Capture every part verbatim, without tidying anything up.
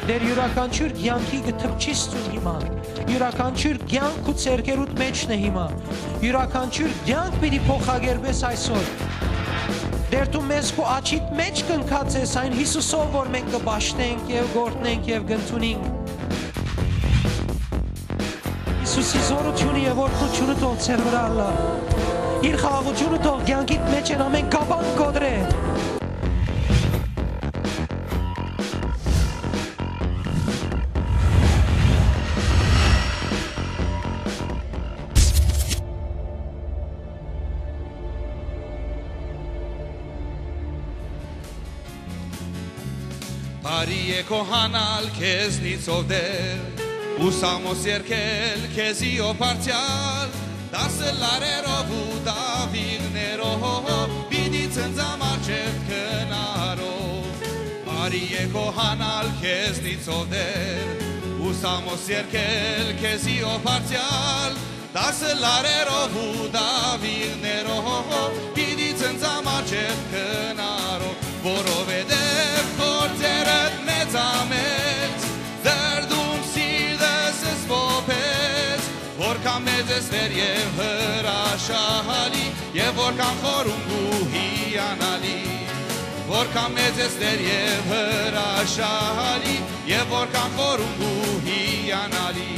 Տէր, իւրաքանչիւր կեանքի կը թփչիս դուն հիմա։ Իւրաքանչիւր կեանք քու ձեռքերուդ մէջն է հիմա։ Իւրաքանչիւր կեանք պիտի փոխակերպես այսօր։ Տէր, դու մեզ քու աջիդ մէջ կնքած ես, այն Յիսուսով, որ մենք կը պաշտենք եւ կ'օրհնենք եւ կ'ընդունենք։ Յիսուսի զօրութիւնը եւ օրհնութիւնը թող ձեր վրայ ըլլայ։ Իր խաղաղութիւնը թող կեանքիդ մէջ են ամէն կապան կոտրէ։ Բարի է քո հանալ քեզնից, ով Տէր, ու սամոս երկել քեզի, ով Բարձրյալ, դասը լարերով ու դավիղներով պիտի ցնծամ առջեւ քնարով։ Բարի է քո հանալ քեզնից, ով Տէր, ու սամոս երկել քեզի, ով Բարձրյալ, դասը լարերով ու դավիղներով պիտի ցնծամ առջեւ քնարով, որովհետեւ գործերդ մեծամեծ, դրդում սիրտս սփոփեց, որքան մեծ ես Տէր եւ հրաշալի, եւ որքան խորունկ ու հիանալի, որքան մեծ ես Տէր եւ հրաշալի, եւ որքան խորունկ ու հիանալի։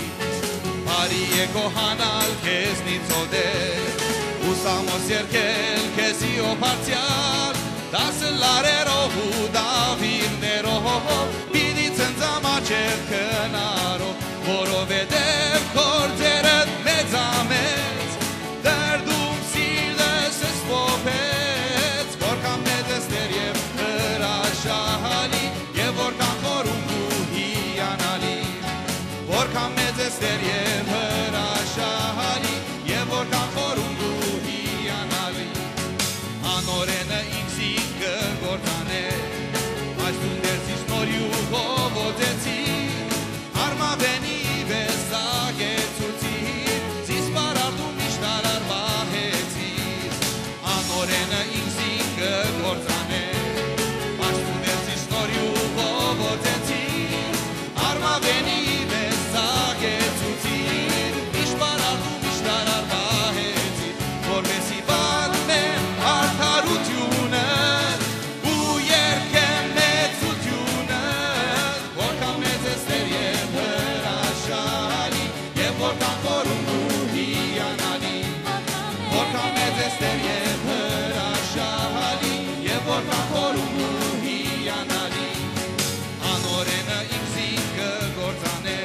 Բարի է քո հանալ քեզնից, ով Տէր, ու սամոս երկել քեզի, ով Բարձրյալ, դասը լարերով ու դավիղներով պիտի ցնծամ առջեւ քնարով, որովհետեւ գործերդ մեծամեծ, դրդում սիրտս սփոփեց, որքան մեծ ես Տէր եւ հրաշալի, եւ որքան խորունկ ու հիանալի, որքան մեծ ես Տէր եւ հրաշալի, եւ որքան խորունկ ու հիանալի։ Անօրէնը ինքզինք կը կործանէ, բայց դուն Տէր զիս նոր իւղով օծեցի, արմաւենի պէս ծակեցուցի, զիս պարարտ ու միշտ արար պահեցի։ Անօրէնը ինքզինք կը կործանէ, բայց դուն Տէր զիս նոր իւղով օծեցի, արմաւենի պէս ծակեցուցի, միշտ պարարտ ու միշտ արար պահեցի, որպէսզի պատմեմ արդարութիւնը ու երգեմ մեծութիւնը, որքան մեծ ես Տէր եւ հրաշալի, եւ որքան խորունկ ու հիանալի, որքան մեծ ես Տէր եւ հրաշալի, եւ որքան խորունկ ու հիանալի։ Անօրէնը ինքզինք կը կործանէ,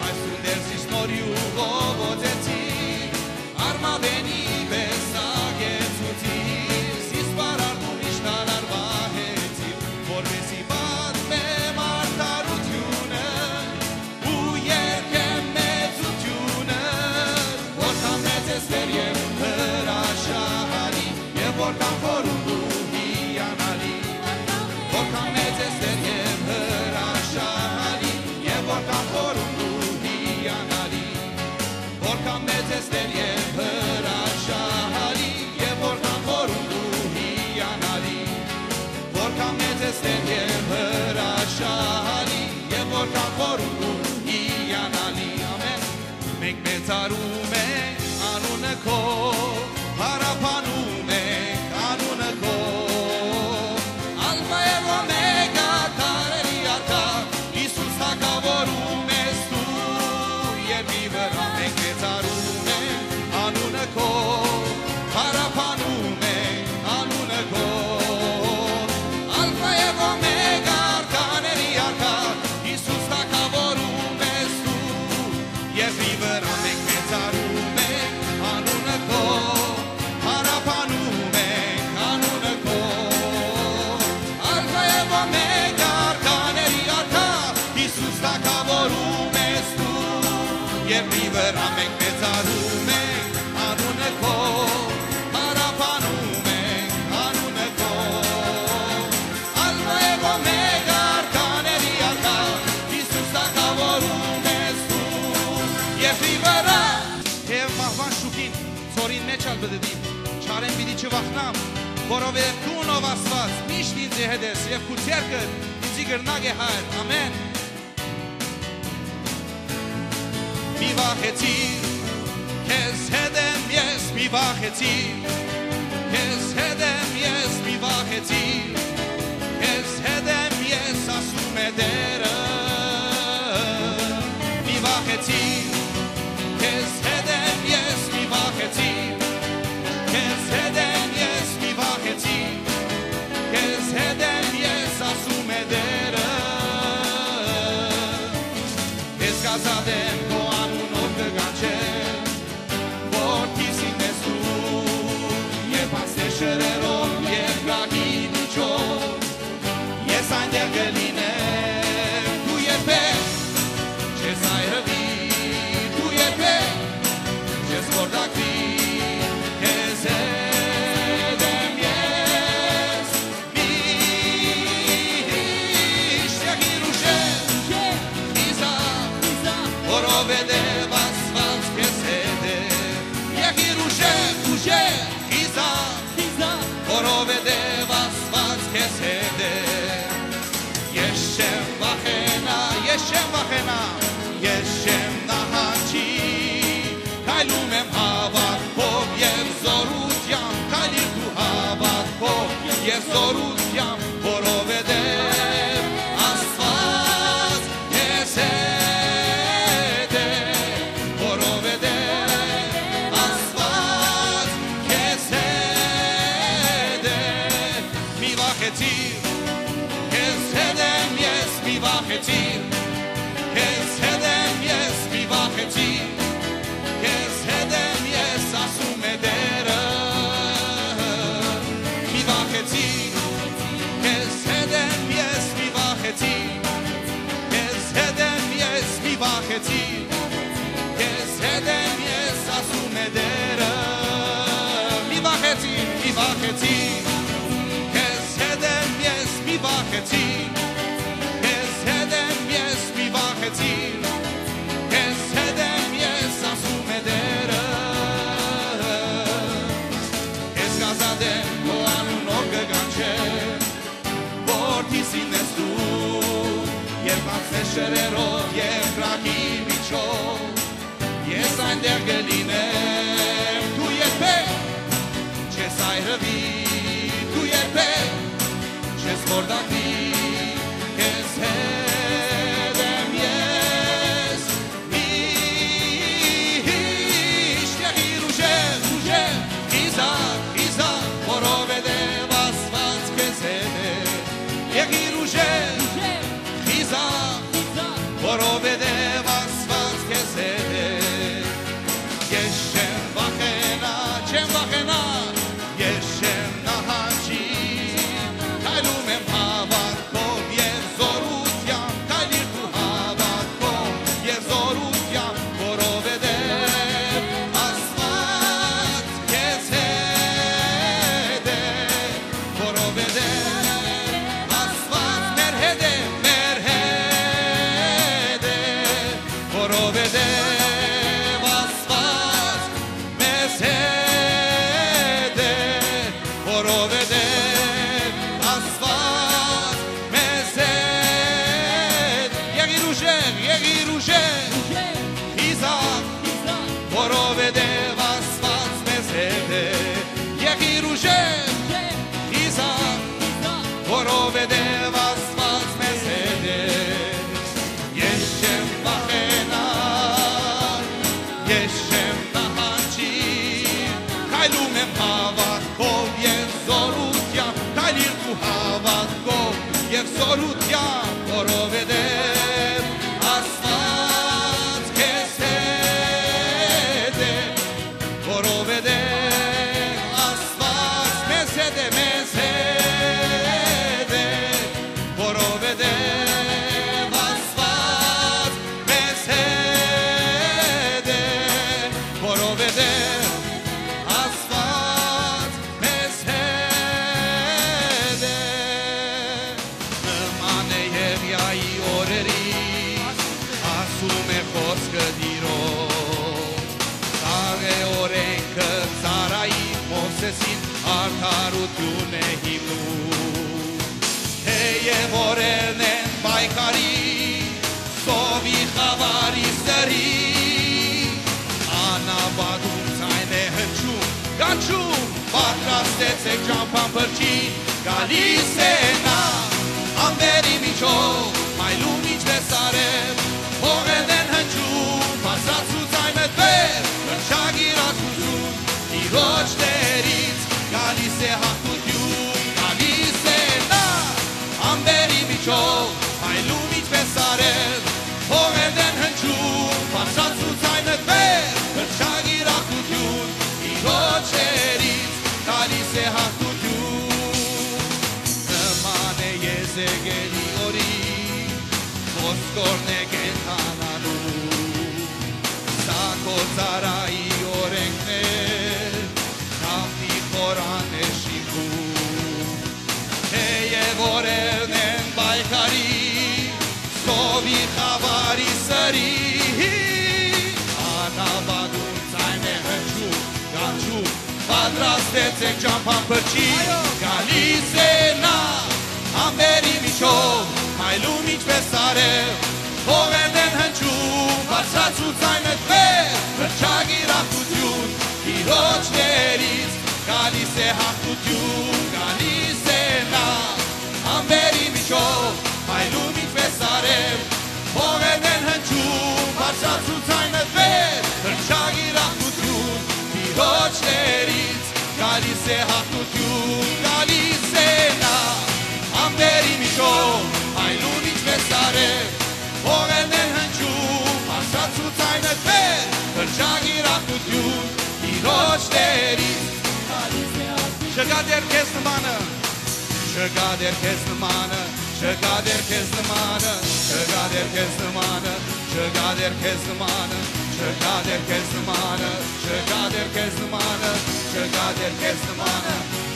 բայց դուն Տէր զիս նոր իւղով օծեցի, արմաւենի պէս ծակեցուցի, զիս պարարտ ու միշտ արար պահեցի, որպէսզի պատմեմ արդարութիւնը ու երգեմ մեծութիւնը, որքան մեծ ես Տէր եւ հրաշալի, եւ որքան խորունկ ու հիանալի, որքան մեծ ես Տէր եւ հրաշալի, եւ որքան խորունկ ու հիանալի, որքան մեծ ես Տէր եւ հրաշալի, եւ որքան խորունկ ու հիանալի, որքան մեծ ես Տէր եւ հրաշալի, եւ որքան խորունկ ու հիանալի։ Ամեն։ Մենք մեծարում ենք անունը քո, փառաբանում ենք անունը քո։ Ալֆա եւ Օմեգա, դարերի արքա, Յիսուս թագաւորում ես դու երկրի վրայ։ Մենք մեծարում ենք անունը քո, փառաբանում ենք անունը քո։ Ալֆա եւ Օմեգա, արքաների արքա, Յիսուս թագաւորում ես դու երկրի վրայ, մենք մեծարում ենք անունը քո, փառաբանում ենք անունը քո։ Ալֆա եւ Օմեգա, արքաների արքա, Յիսուս թագաւորում ես դու երկրի վրայ, մենք մեծարում ենք անունը քո, փառաբանում ենք անունը քո։ Ալֆա եւ Օմեգա, արքաների արքա, Յիսուս թագաւորում ես դու երկրի վրայ։ Թեեւ մահուան շուքին, ցորին մէջ ալ պիտի դիմ, չարէն պիտի չվախնամ, որովհետեւ դուն, ով Աստուած, միշտ ինծի հետ ես եւ քու ձեռքդ ինծի կրնակ է, Հայր։ Ամեն։ Մի վախեցիր, քեզ հետ եմ ես, մի վախեցիր, քեզ հետ եմ ես, մի վախեցիր, քեզ հետ եմ ես, ասում է Տերը։ Մի վախեցիր, քեզ հետ եմ ես, մի վախեցիր, քեզ հետ եմ ես, մի վախեցիր, քեզ հետ եմ ես, ասում է Տերը։ Ես կ'ազատեմ քո անունով կը կանչեմ, որ դիսին ես դու, երբ անցնես շրերով երկրագի միջով, ես այնտեղ կը լինեմ, դու երբեք չես այրուի, դու երբեք չես խորտակուի, քեզ հետ եմ ես։ Միշտ եղիր ուժեղ, խիզախ, որովհետև Աստուած քեզ հետ է։ Եղիր ուժեղ, ուժեղ, խիզախ, որովհետև Աստուած քեզ հետ է։ Ես չեմ վախենայ, ես չեմ վախենայ, ես չեմ նահանջի, քայլում եմ հաւատքով եւ զօրութեամբ, քայլիր դու հաւատքով եւ զօրութեամբ, որովհետեւ Աստուած քեզ հետ է, որովհետեւ Աստուած քեզ հետ է։ Մի վախեցիր, քեզ հետ եմ ես, մի վախեցիր, քեզ հետ եմ ես, մի վախեցիր, քեզ հետ եմ ես, ասում է Տերը։ Մի վախեցիր, քեզ հետ եմ ես, մի վախեցիր, քեզ հետ եմ ես, մի վախեցիր, քեզ հետ եմ ես, ասում է Տերը։ Մի վախեցիր, մի վախեցիր, քեզ հետ եմ ես, մի վախեցիր, քեզ հետ եմ ես, մի վախեցիր, քեզ հետ եմ ես, ասում է Տերը։ Ես կ'ազատեմ քո անունով կը կանչեմ, որ դիսին ես դու, երբ անցնես շրերով երկրագի միջով, ես այնտեղ կը լինեմ, դու երբեք չես այրուի, դու երբեք չես խորտակուի, քեզ հետ եմ ես, միշտ եղիր ուժեղ, ուժեղ, խիզախ, խիզախ, որովհետև Աստուած քեզ հետ է, եղիր ուժեղ, խիզախ, որովհետև Աստուած քեզ հետ է։ Ես չեմ վախենայ, չեմ վախենայ, ես չեմ նահանջի, քայլում եմ հաւատքով եւ զօրութեամբ, քայլիր դու հաւատքով եւ զօրութեամբ, որովհետև Աստուած քեզ հետ է, որովհետև Աստուած մեր հետ է, մեր հետ է, որովհետև Աստուած մեզ հետ է, որովհետև Աստուած մեզ հետ։ Եղիր ուժեղ, եղիր ուժեղ, խիզախ, որովհետև Աստուած մեզ հետ է։ Եղիր ուժեղ, խիզախ, որովհետև Աստուած մեզ հետ է։ Ես չեմ վախենայ, ես չեմ նահանջի, քայլում եմ հաւատքով եւ զօրութեամբ, քայլիր դու հաւատքով եւ զօրութեամբ, որովհետեւ Աստուած քեզ հետ է, որովհետեւ Աստուած մեզ հետ է, մեզ հետ է, որովհետեւ Աստուած մեզ հետ է, Տեկ ճամբան փրկին գալիս է նա, ամպերի միջով, այլում ինչպես արև, հողերն են հնչում, բարձրացուց այն մտվեր, հրճագիր ակնություն, Տիրոջ ներից գալիս է հաղթություն, գալիս է նա, ամպերի միջով, այլում ինչպես արև, հողերն են հնչում, բարձրացուց այն մտվեր, հրճագիր ակնություն, Տիրոջ ներից գալիս է հաղթություն։ Նման է Եզեկիելի օրին, ոսկորն է կենդանանում, սա քո ծառայի օրէնքն է, Դաւթի խորան է շինվում։ Թէեւ օրերն են պայքարի, սովի խաւարի սրի, անապատում ձայն է հնչում, կանչում, պատրաստեցէք ճամբան փրկի, այո, գալիս է նա, ամպերի միջով, այլում ինչպես արև, հողերն են հնչում, բարձրացուց այն մտվեր, հրճագիր ակնություն, Տիրոջ ներից գալիս է հաղթություն, գալիս է նա, ամպերի միջով, այլում ինչպես արև, հողերն են հնչում, բարձրացուց այն մտվեր, հրճագիր ակնություն, Տիրոջ ներից գալիս է հաղթություն, գալիս է նա, ամպերի միջով, այլում ինչպես արև, հողերն են հնչում, բարձրացուց այն մտվեր, հրճագիր ակնություն, Տիրոջ ներից գալիս է հաղթություն։ Չկա դեռ քեզ նմանը, չկա դեռ քեզ նմանը, չկա դեռ քեզ նմանը, չկա դեռ քեզ նմանը, չկա դեռ քեզ նմանը, չկա դեռ քեզ նմանը, չկա դեռ քեզ նմանը, չկա դեռ քեզ նմանը,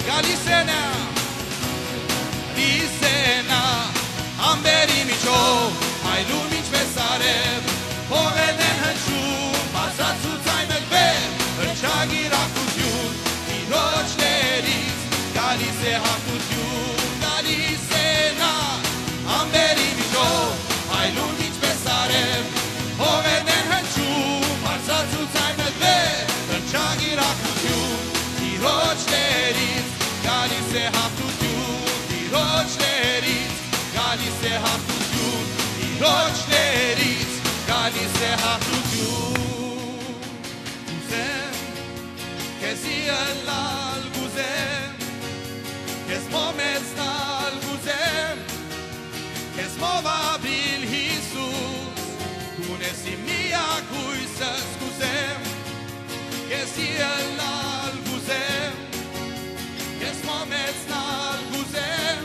գալիս է նա, գալիս է նա, ամպերի միջով, այլում ինչպես արև, հողերն են հնչում, բարձրացուց այն մտվեր, հրճագիր ակնություն, Տիրոջ ներից գալիս է հաղթություն, գալիս է նա, ամպերի միջով, այլում ինչպես արև, հողերն են հնչում, բարձրացուց այն մտվեր, հրճագիր ակնություն, Տիրոջ ներից գալիս է հաղթություն, Տիրոջ ներից գալիս է հաղթություն, Տիրոջ ներից գալիս է հաղթություն։ Կ'ուզեմ քեզի ըլլալ, կ'ուզեմ քեզ մոմեցնալ, կ'ուզեմ քեզ մով ապրիլ, Յիսուս, դուն ես իմ միակ հոյսս, կ'ուզեմ քեզի ըլլալ, կ'ուզեմ քեզ մոմեցնալ, կ'ուզեմ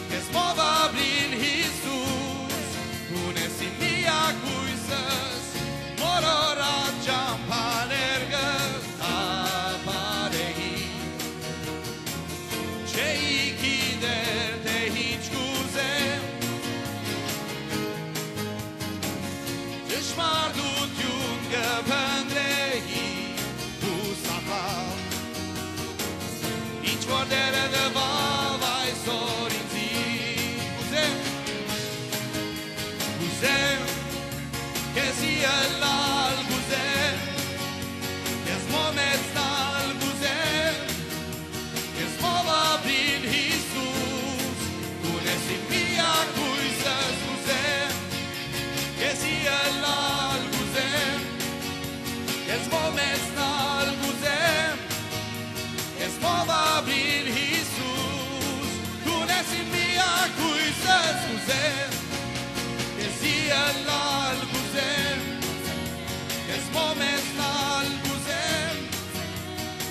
քեզ մով ապրիլ, Յիսուս, դուն ես իմ միակ հոյսս, մոլորած ճամբաներկս թափառէի, չէի գիտեր թէ ինչ կ'ուզեմ, ճշմարտութիւն կը փնտռէի յուսախաբ, ինչ որ Տէրը տուաւ այսօր ինծի, կ'ուզեմ, կ'ուզեմ քեզի ըլլալ, կ'ուզեմ քեզ մոմեցնալ, կ'ուզեմ քեզ մով ապրիլ, Յիսուս, դուն ես իմ միակ հոյսս, կ'ուզեմ քեզի ըլլալ, կ'ուզեմ քեզ մոմեցնալ, կ'ուզեմ քեզ մով ապրիլ, Յիսուս, դուն ես իմ միակ հոյսս, կ'ուզեմ քեզի ըլլալ, կ'ուզեմ քեզ մոմեցնալ, կ'ուզեմ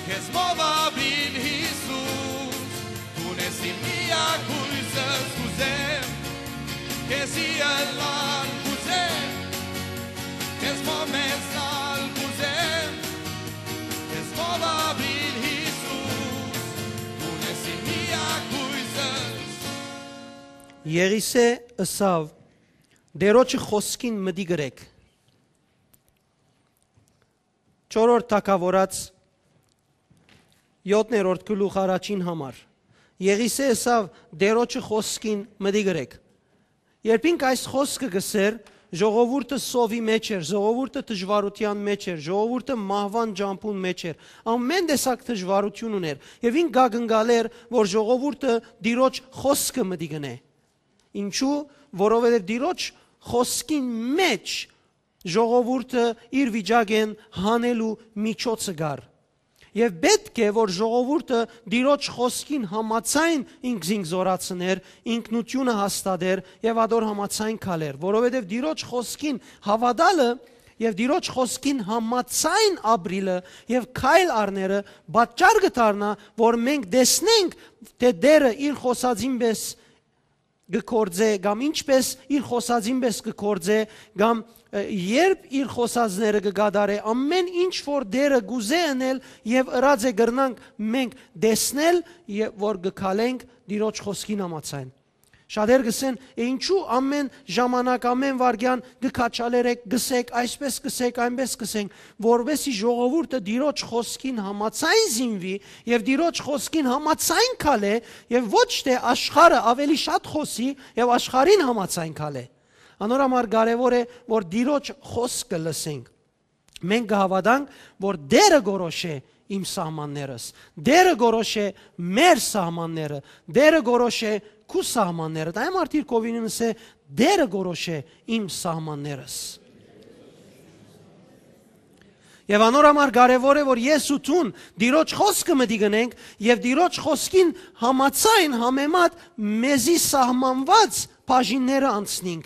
քեզ մով ապրիլ, Յիսուս, դուն ես իմ միակ հոյսս, կ'ուզեմ քեզի ըլլալ, կ'ուզեմ քեզ մոմեցնալ, կ'ուզեմ քեզ մով ապրիլ, Յիսուս, դուն ես իմ միակ հոյսս։ Եղիսէ ըսաւ. «Տէրոջը խօսքին մտիկ ըրէք»։ Չորրորդ թագաւորաց, յոթերորդ գլուխ, առաջին համար։ Եղիսէ ըսաւ. «Տէրոջը խօսքին մտիկ ըրէք»։ Երբ ինք այս խօսքը կ'ըսէր, Ժողովուրդը սովի մէջ էր, ժողովուրդը դժուարութեան մէջ էր, ժողովուրդը մահուան ճամբուն մէջ էր։ Ամէն տեսակ դժուարութիւն ունէր։ Եւ ինք կ'ակնկալէր, որ ժողովուրդը Տիրոջ խօսքը մտի կ'ընէ։ Ինչու՞, որովհետեւ Տիրոջ խօսքին մէջ ժողովուրդը իր վիճակէն հանելու միջոցը կար։ Եւ պէտք է, որ ժողովուրդը Տիրոջ խօսքին համաձայն ինքզինք զօրացնէր, ինքնութիւնը հաստատէր եւ ատոր համաձայն քալէր, որովհետեւ Տիրոջ խօսքին հաւատալը եւ Տիրոջ խօսքին համաձայն ապրիլը եւ քայլ առնելը պատճառ կը դառնայ, որ մենք տեսնենք, թէ Տէրը իր խօսածին պէս կը գործէ, կամ ինչպէս իր խօսածին պէս կը գործէ, կամ, ը, երբ իր խօսածները կը կատարէ, ամէն ինչ որ Տէրը կ'ուզէ ընել եւ ըրած է, կրնանք մենք տեսնել, եւ որ կը քալենք Տիրոջ խօսքին համաձայն։ Շատեր կ'ըսեն. «Է, ինչու ամէն ժամանակ, ամէն վայրկեան կը քաչալերեք, կ'ըսեք, այսպէս կ'ըսեք, այնպէս կ'ըսենք», որպէս զի ժողովուրդը Տիրոջ խօսքին համաձայն զինուի եւ Տիրոջ խօսքին համաձայն քալէ եւ ոչ թէ աշխարհը ավելի շատ խօսի եւ աշխարհին համաձայն քալէ։ Անոր համար կարեւոր է, որ Տիրոջ խօսքը լսենք։ Մենք կը հաւատանք, որ Տէրը կորոշէ իմ սահմաններս, Տէրը կորոշէ մեր սահմանները, Տէրը կորոշէ քու սահմանները։ Դա համար դիրքովին ըսէ. «Տէրը կորոշէ իմ սահմաններս»։ Եւ անոր համար կարեւոր է, որ ես ու դուն Տիրոջ խօսքը մտի կ'ընենք եւ Տիրոջ խօսքին համաձայն, համեմատ մեզի սահմանուած բաժինները անցնենք,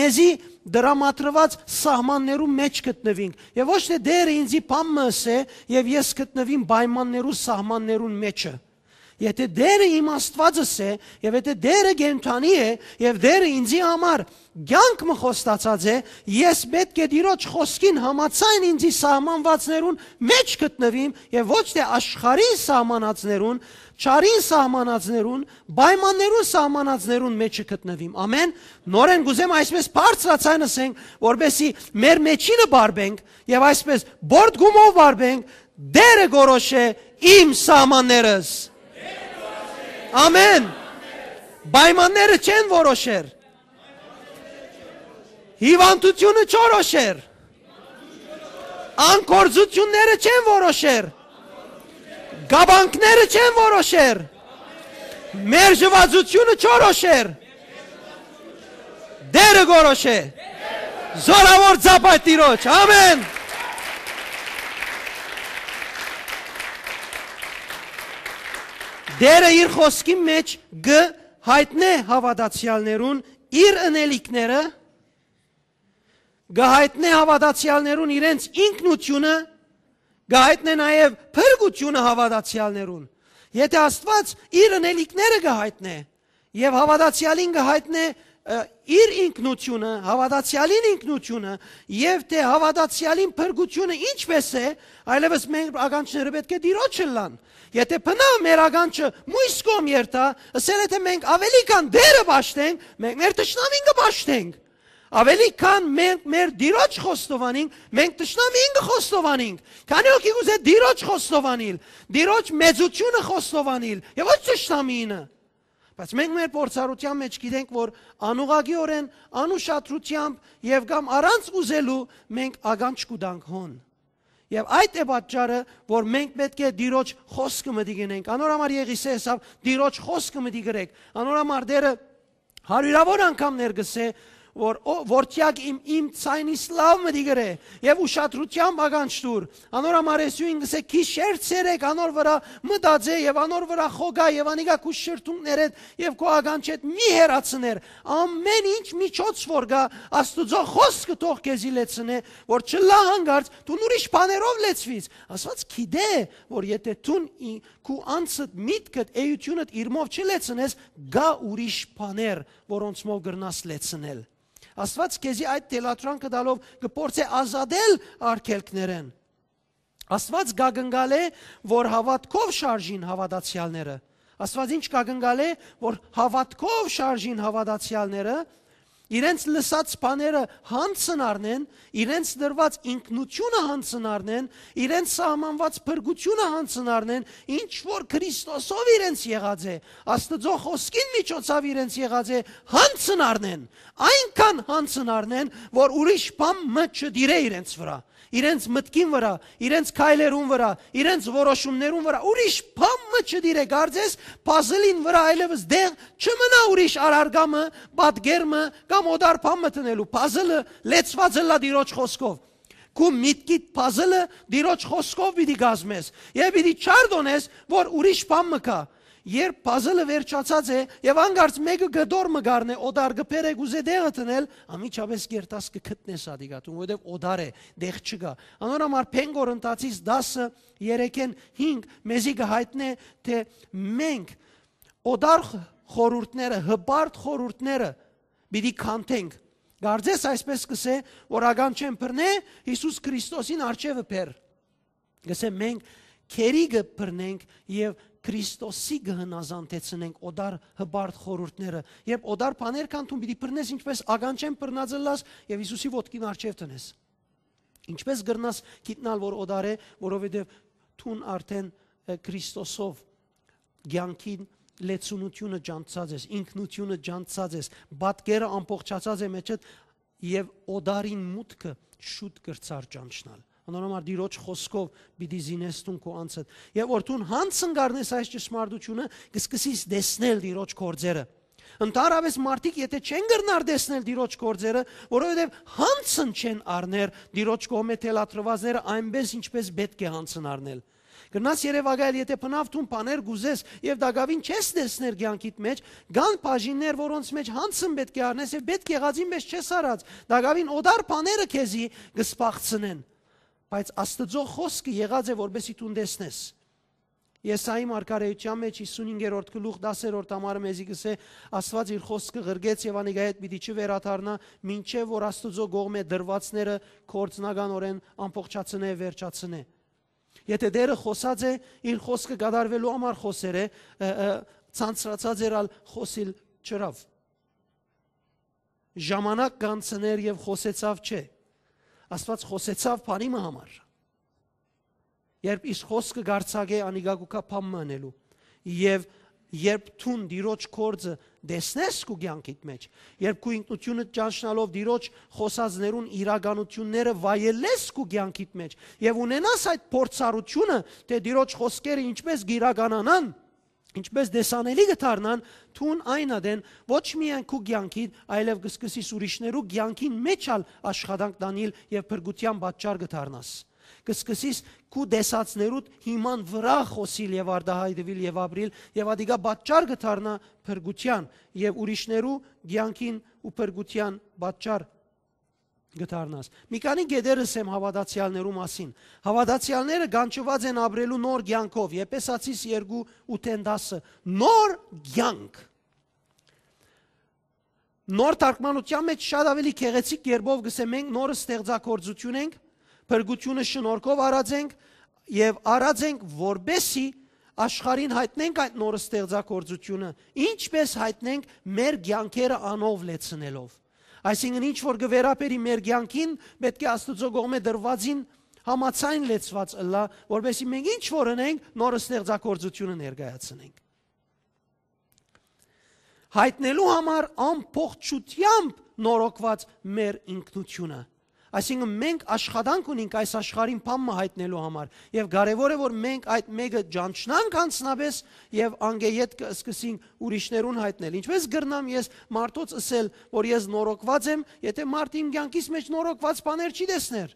մեզի դրամատրուած սահմաններու մէջ գտնուինք, եւ ոչ թէ Տէրը ինձի բան մը ըսէ եւ ես գտնուիմ պայմաններու, սահմաններուն մէջը։ Եթէ Տէրը իմ Աստուածս է, եւ եթէ Տէրը կենդանի է, եւ Տէրը ինձի համար կեանք մը խոստացած է, ես պէտք է Տիրոջ խօսքին համաձայն ինձի սահմանվածներուն մէջ գտնուիմ եւ ոչ թէ աշխարհին սահմանածներուն, չարին սահմանածներուն, պայմաններուն սահմանածներուն մէջը գտնուիմ։ Ամէն։ Նորէն կ'ուզեմ այսպես բարձրաձայն ըսենք, որպեսզի մեր մէջինը բարբենք եւ այսպես բորդ գումով բարբենք. «Տէրը կորոշէ իմ սահմաններս»։ Ամէն։ Պայմանները չեն որոշեր։ Հիւանդութիւնը չորոշեր։ Անգործութիւնները չեն որոշեր։ Կապանքները չեն որոշեր։ Մեր ժվածությունը չորոշեր։ Տէրը կորոշէ։ Զորաւոր ծապայ Տիրոջ։ Ամէն։ Տէրը իր խօսքի մէջ կը յայտնէ հաւատացեալներուն իր ընելիքները, կը յայտնէ հաւատացեալներուն իրենց ինքնութիւնը, կը յայտնէ նաեւ փրկութիւնը հաւատացեալներուն։ Եթէ Աստուած իր ընելիքները կը յայտնէ, եւ հաւատացեալին կը յայտնէ, ը, իր ինքնութիւնը, հաւատացեալին ինքնութիւնը, եւ թէ հաւատացեալին փրկութիւնը ինչպէս է, այլեւս մեր ականջները պէտք է Տիրոջ ըլլան։ Եթէ բնաւ մեր ականջը մոյս կողմ երթայ, ըսել է թէ մենք ավելի քան Տէրը պաշտենք, մենք մեր թշնամին կը պաշտենք։ Ավելի քան մենք մեր Տիրոջ խոստովանենք, մենք թշնամին կը խոստովանենք։ Քանի՞ հոգի կ'ուզէ Տիրոջ խոստովանիլ, Տիրոջ մեծութիւնը խոստովանիլ, եւ ոչ թշնամինը։ Բայց մենք մեր փորձառութեան մէջ գիտենք, որ անուղղակիօրէն, անուշադրութեամբ եւ կամ առանց ուզելու մենք ականջ կու տանք հոն։ Եւ այդ է պատճառը, որ մենք պէտք է Տիրոջ խօսքը մտի կ'ընենք։ Անոր համար Եղիսէ ըսաւ. «Տիրոջ խօսքը մտի կ'ընեք»։ Անոր համար Տէրը հարիւրաւոր անգամներ կ'ըսէ, որ, «Ո, որդեակ իմ, իմ ձայնիս լաւ մտի կ'ընէ եւ ուշադրութեամբ ականջ տուր»։ Անոր համար Յիսուսը կ'ըսէ. «Գիշեր ցերեկ անոր վրայ մտածէ եւ անոր վրայ խոկայ եւ անիկա քու շրթունքներէդ եւ քու ականջէդ մի հեռացներ»։ Ամէն ինչ միջոց որ կայ, Աստուծոյ խօսքը թող քեզի լեցնէ, որ չըլլայ յանկարծ դուն ուրիշ բաներով լեցուիս։ Աստուած գիտէ, որ եթէ դուն ի-, քու անձդ, միտքդ, էութիւնդ իրմով չլեցնես, կայ ուրիշ բաներ, որոնցմով կրնաս լեցնել։ Աստուած քեզի այդ թելադրանքը տալով կը փորձէ ազատել արգելքներէն։ Աստուած կ'ակնկալէ, որ հաւատքով շարժին հաւատացեալները։ Աստուած ինչ կ'ակնկալէ, որ հաւատքով շարժին հաւատացեալները, իրենց լսած բաները յանձն առնեն, իրենց տրուած ինքնութիւնը յանձն առնեն, իրենց սահմանուած փրկութիւնը յանձն առնեն, ինչ որ Քրիստոսով իրենց եղած է, Աստուծոյ խօսքին միջոցաւ իրենց եղած է, յանձն առնեն, այնքան յանձն առնեն, որ ուրիշ բան մը չտիրէ իրենց վրայ, իրենց մտքին վրայ, իրենց քայլերուն վրայ, իրենց որոշումներուն վրայ, ուրիշ բան մը չտիրէ, կարծես փազլին վրայ այլեւս տեղ չմնայ ուրիշ առարկայ մը, պատկեր մը կամ օտար բան մը դնելու, փազլը լեցուած ըլլայ Տիրոջ խօսքով։ Քու միտքիդ փազլը Տիրոջ խօսքով պիտի կազմես եւ պիտի չարդոնես, որ ուրիշ բան մը կայ։ Երբ փազլը վերջացած է եւ անկարծ մէկը կտոր մը կ'առնէ օտար, կը բերէ, կ'ուզէ տեղը դնել, անմիջապէս կ'երթաս, կը գտնես ատիկա, որովհետեւ օտար է, տեղ չկայ։ Անոր համար Բնկոր Ընթացքին դասը, երեքէն հինգ, մեզի կը յայտնէ, թէ մենք օտար խորհուրդները, հպարտ խորհուրդները պիտի քանդենք։ Կարծես այսպես կ'ըսէ, որ ականջէն բռնէ, Յիսուս Քրիստոսին առջեւը բեր։ Կ'ըսէ, մենք գերի կը բռնենք եւ Քրիստոսի կը հնազանդեցնենք օտար հպարտ խորհուրդները։ Երբ օտար բաներ քանդուն, պիտի բռնես, ինչպես ականջէն բռնած ըլլաս եւ Յիսուսի ոտքին առջեւ դնես։ Ինչպես կրնաս գիտնալ, որ օտար է, որովհետեւ դուն արդեն, ը, Քրիստոսով կեանքին լեցունութիւնը ջանցած ես, ինքնութիւնը ջանցած ես, պատկերը ամբողջացած է մեջդ եւ օտարին մուտքը շուտ կրցար ճանչնալ։ Անոր համար Տիրոջ խօսքով պիտի զինես դուն քու անձդ։ Եւ որ դուն յանձն կ'առնես այս ճշմարտութիւնը, կ'սկսես տեսնել Տիրոջ գործերը։ Ընդհանրապէս մարդիկ եթէ չեն կրնար տեսնել Տիրոջ գործերը, որովհետեւ յանձն չեն առներ Տիրոջ կողմէ թելադրուածները այնպես, ինչպես պէտք է յանձն առնել։ Կրնաս երեւակայել, եթէ բնաւ դուն բաներ կ'ուզես եւ տակաւին չես տեսներ կեանքիդ մէջ, կան բաժիններ, որոնց մէջ յանձն պէտք է առնես եւ պէտք եղածին մէջ չես առած, տակաւին օտար բաները քեզի կը սպաղցնեն։ Բայց Աստուծոյ խօսքը եղած է, որպեսզի դուն տեսնես։ Եսայի մարգարէութեան մէջ հիսունհինգերորդ գլուխ, տասերորդ համարը մեզի կ'ըսէ. «Աստուած իր խօսքը ղրկեց եւ անիկա հետ պիտի չվերադառնայ, մինչեւ որ Աստուծոյ կողմէ տրուածները գործնականօրէն ամբողջացնէ, վերջացնէ»։ Եթէ Տէրը խօսած է, իր խօսքը կատարուելու համար խօսեր է, ը, ը, ցանցրացած էր, ալ խօսիլ չըրաւ։ Ժամանակ կանցներ եւ խօսեցաւ չէ։ Աստուած խօսեցաւ բանի մը համար։ Երբ իր խօսքը կ'արձակէ, անիկա կու գայ բան մը ընելու։ Եւ երբ դուն Տիրոջ գործը տեսնես քու կեանքիդ մէջ, երբ քու ինքնութիւնդ ճանչնալով Տիրոջ խօսածներուն իրականութիւնները վայելես քու կեանքիդ մէջ եւ ունենաս այդ փորձառութիւնը, թէ Տիրոջ խօսքերը ինչպես կ'իրականանան, ինչպես տեսանելի կը դառնան, դուն այն ատեն ոչ միայն քու կեանքիդ, այլեւ կ'սկսես ուրիշներու կեանքին մէջ ալ աշխատանք տանիլ եւ փրկութեան պատճառ կը դառնաս։ Կ'սկսես քու տեսածներուդ հիման վրայ խօսիլ եւ արտայայտուիլ եւ ապրիլ, եւ ատիկա պատճառ կը դառնայ փրկութեան եւ ուրիշներու կեանքին ու փրկութեան պատճառ կը դառնաս։ Մի քանի կետեր ըսեմ հաւատացեալներու մասին։ Հաւատացեալները կանչուած են ապրելու նոր կեանքով, Եփեսացիս երկու, ութ-ին տասը։ Նոր կեանք։ Նոր թարգմանութեան մէջ շատ աւելի գեղեցիկ կերպով կ'ըսէ. «Մենք նոր ստեղծագործութիւն ենք, փրկութիւնը շնորհքով առած ենք եւ առած ենք, որպեսզի աշխարհին յայտնենք այդ նոր ստեղծագործութիւնը»։ Ինչպես յայտնենք, մեր կեանքերը անով լեցնելով։ Այսինքն, ինչ որ կը վերաբերի մեր կեանքին, պէտք է Աստուծոյ կողմէ տրուածին համաձայն լեցուած ըլլայ, որպեսզի մենք ինչ որ ընենք, նոր ստեղծագործութիւնը ներկայացնենք։ Յայտնելու համար ամբողջութեամբ նորոգուած մեր ինքնութիւնը։ Այսինքն, մենք աշխատանք ունենք այս աշխարհին բան մը յայտնելու համար, եւ կարեւոր է, որ մենք այդ մէկը ճանչնանք անձնապէս եւ անգէ ետքը սկսենք ուրիշներուն յայտնել։ Ինչպես կրնամ ես մարդոց ըսել, որ ես նորոգուած եմ, եթէ մարդ իմ կեանքիս մէջ նորոգուած բաներ չի տեսներ։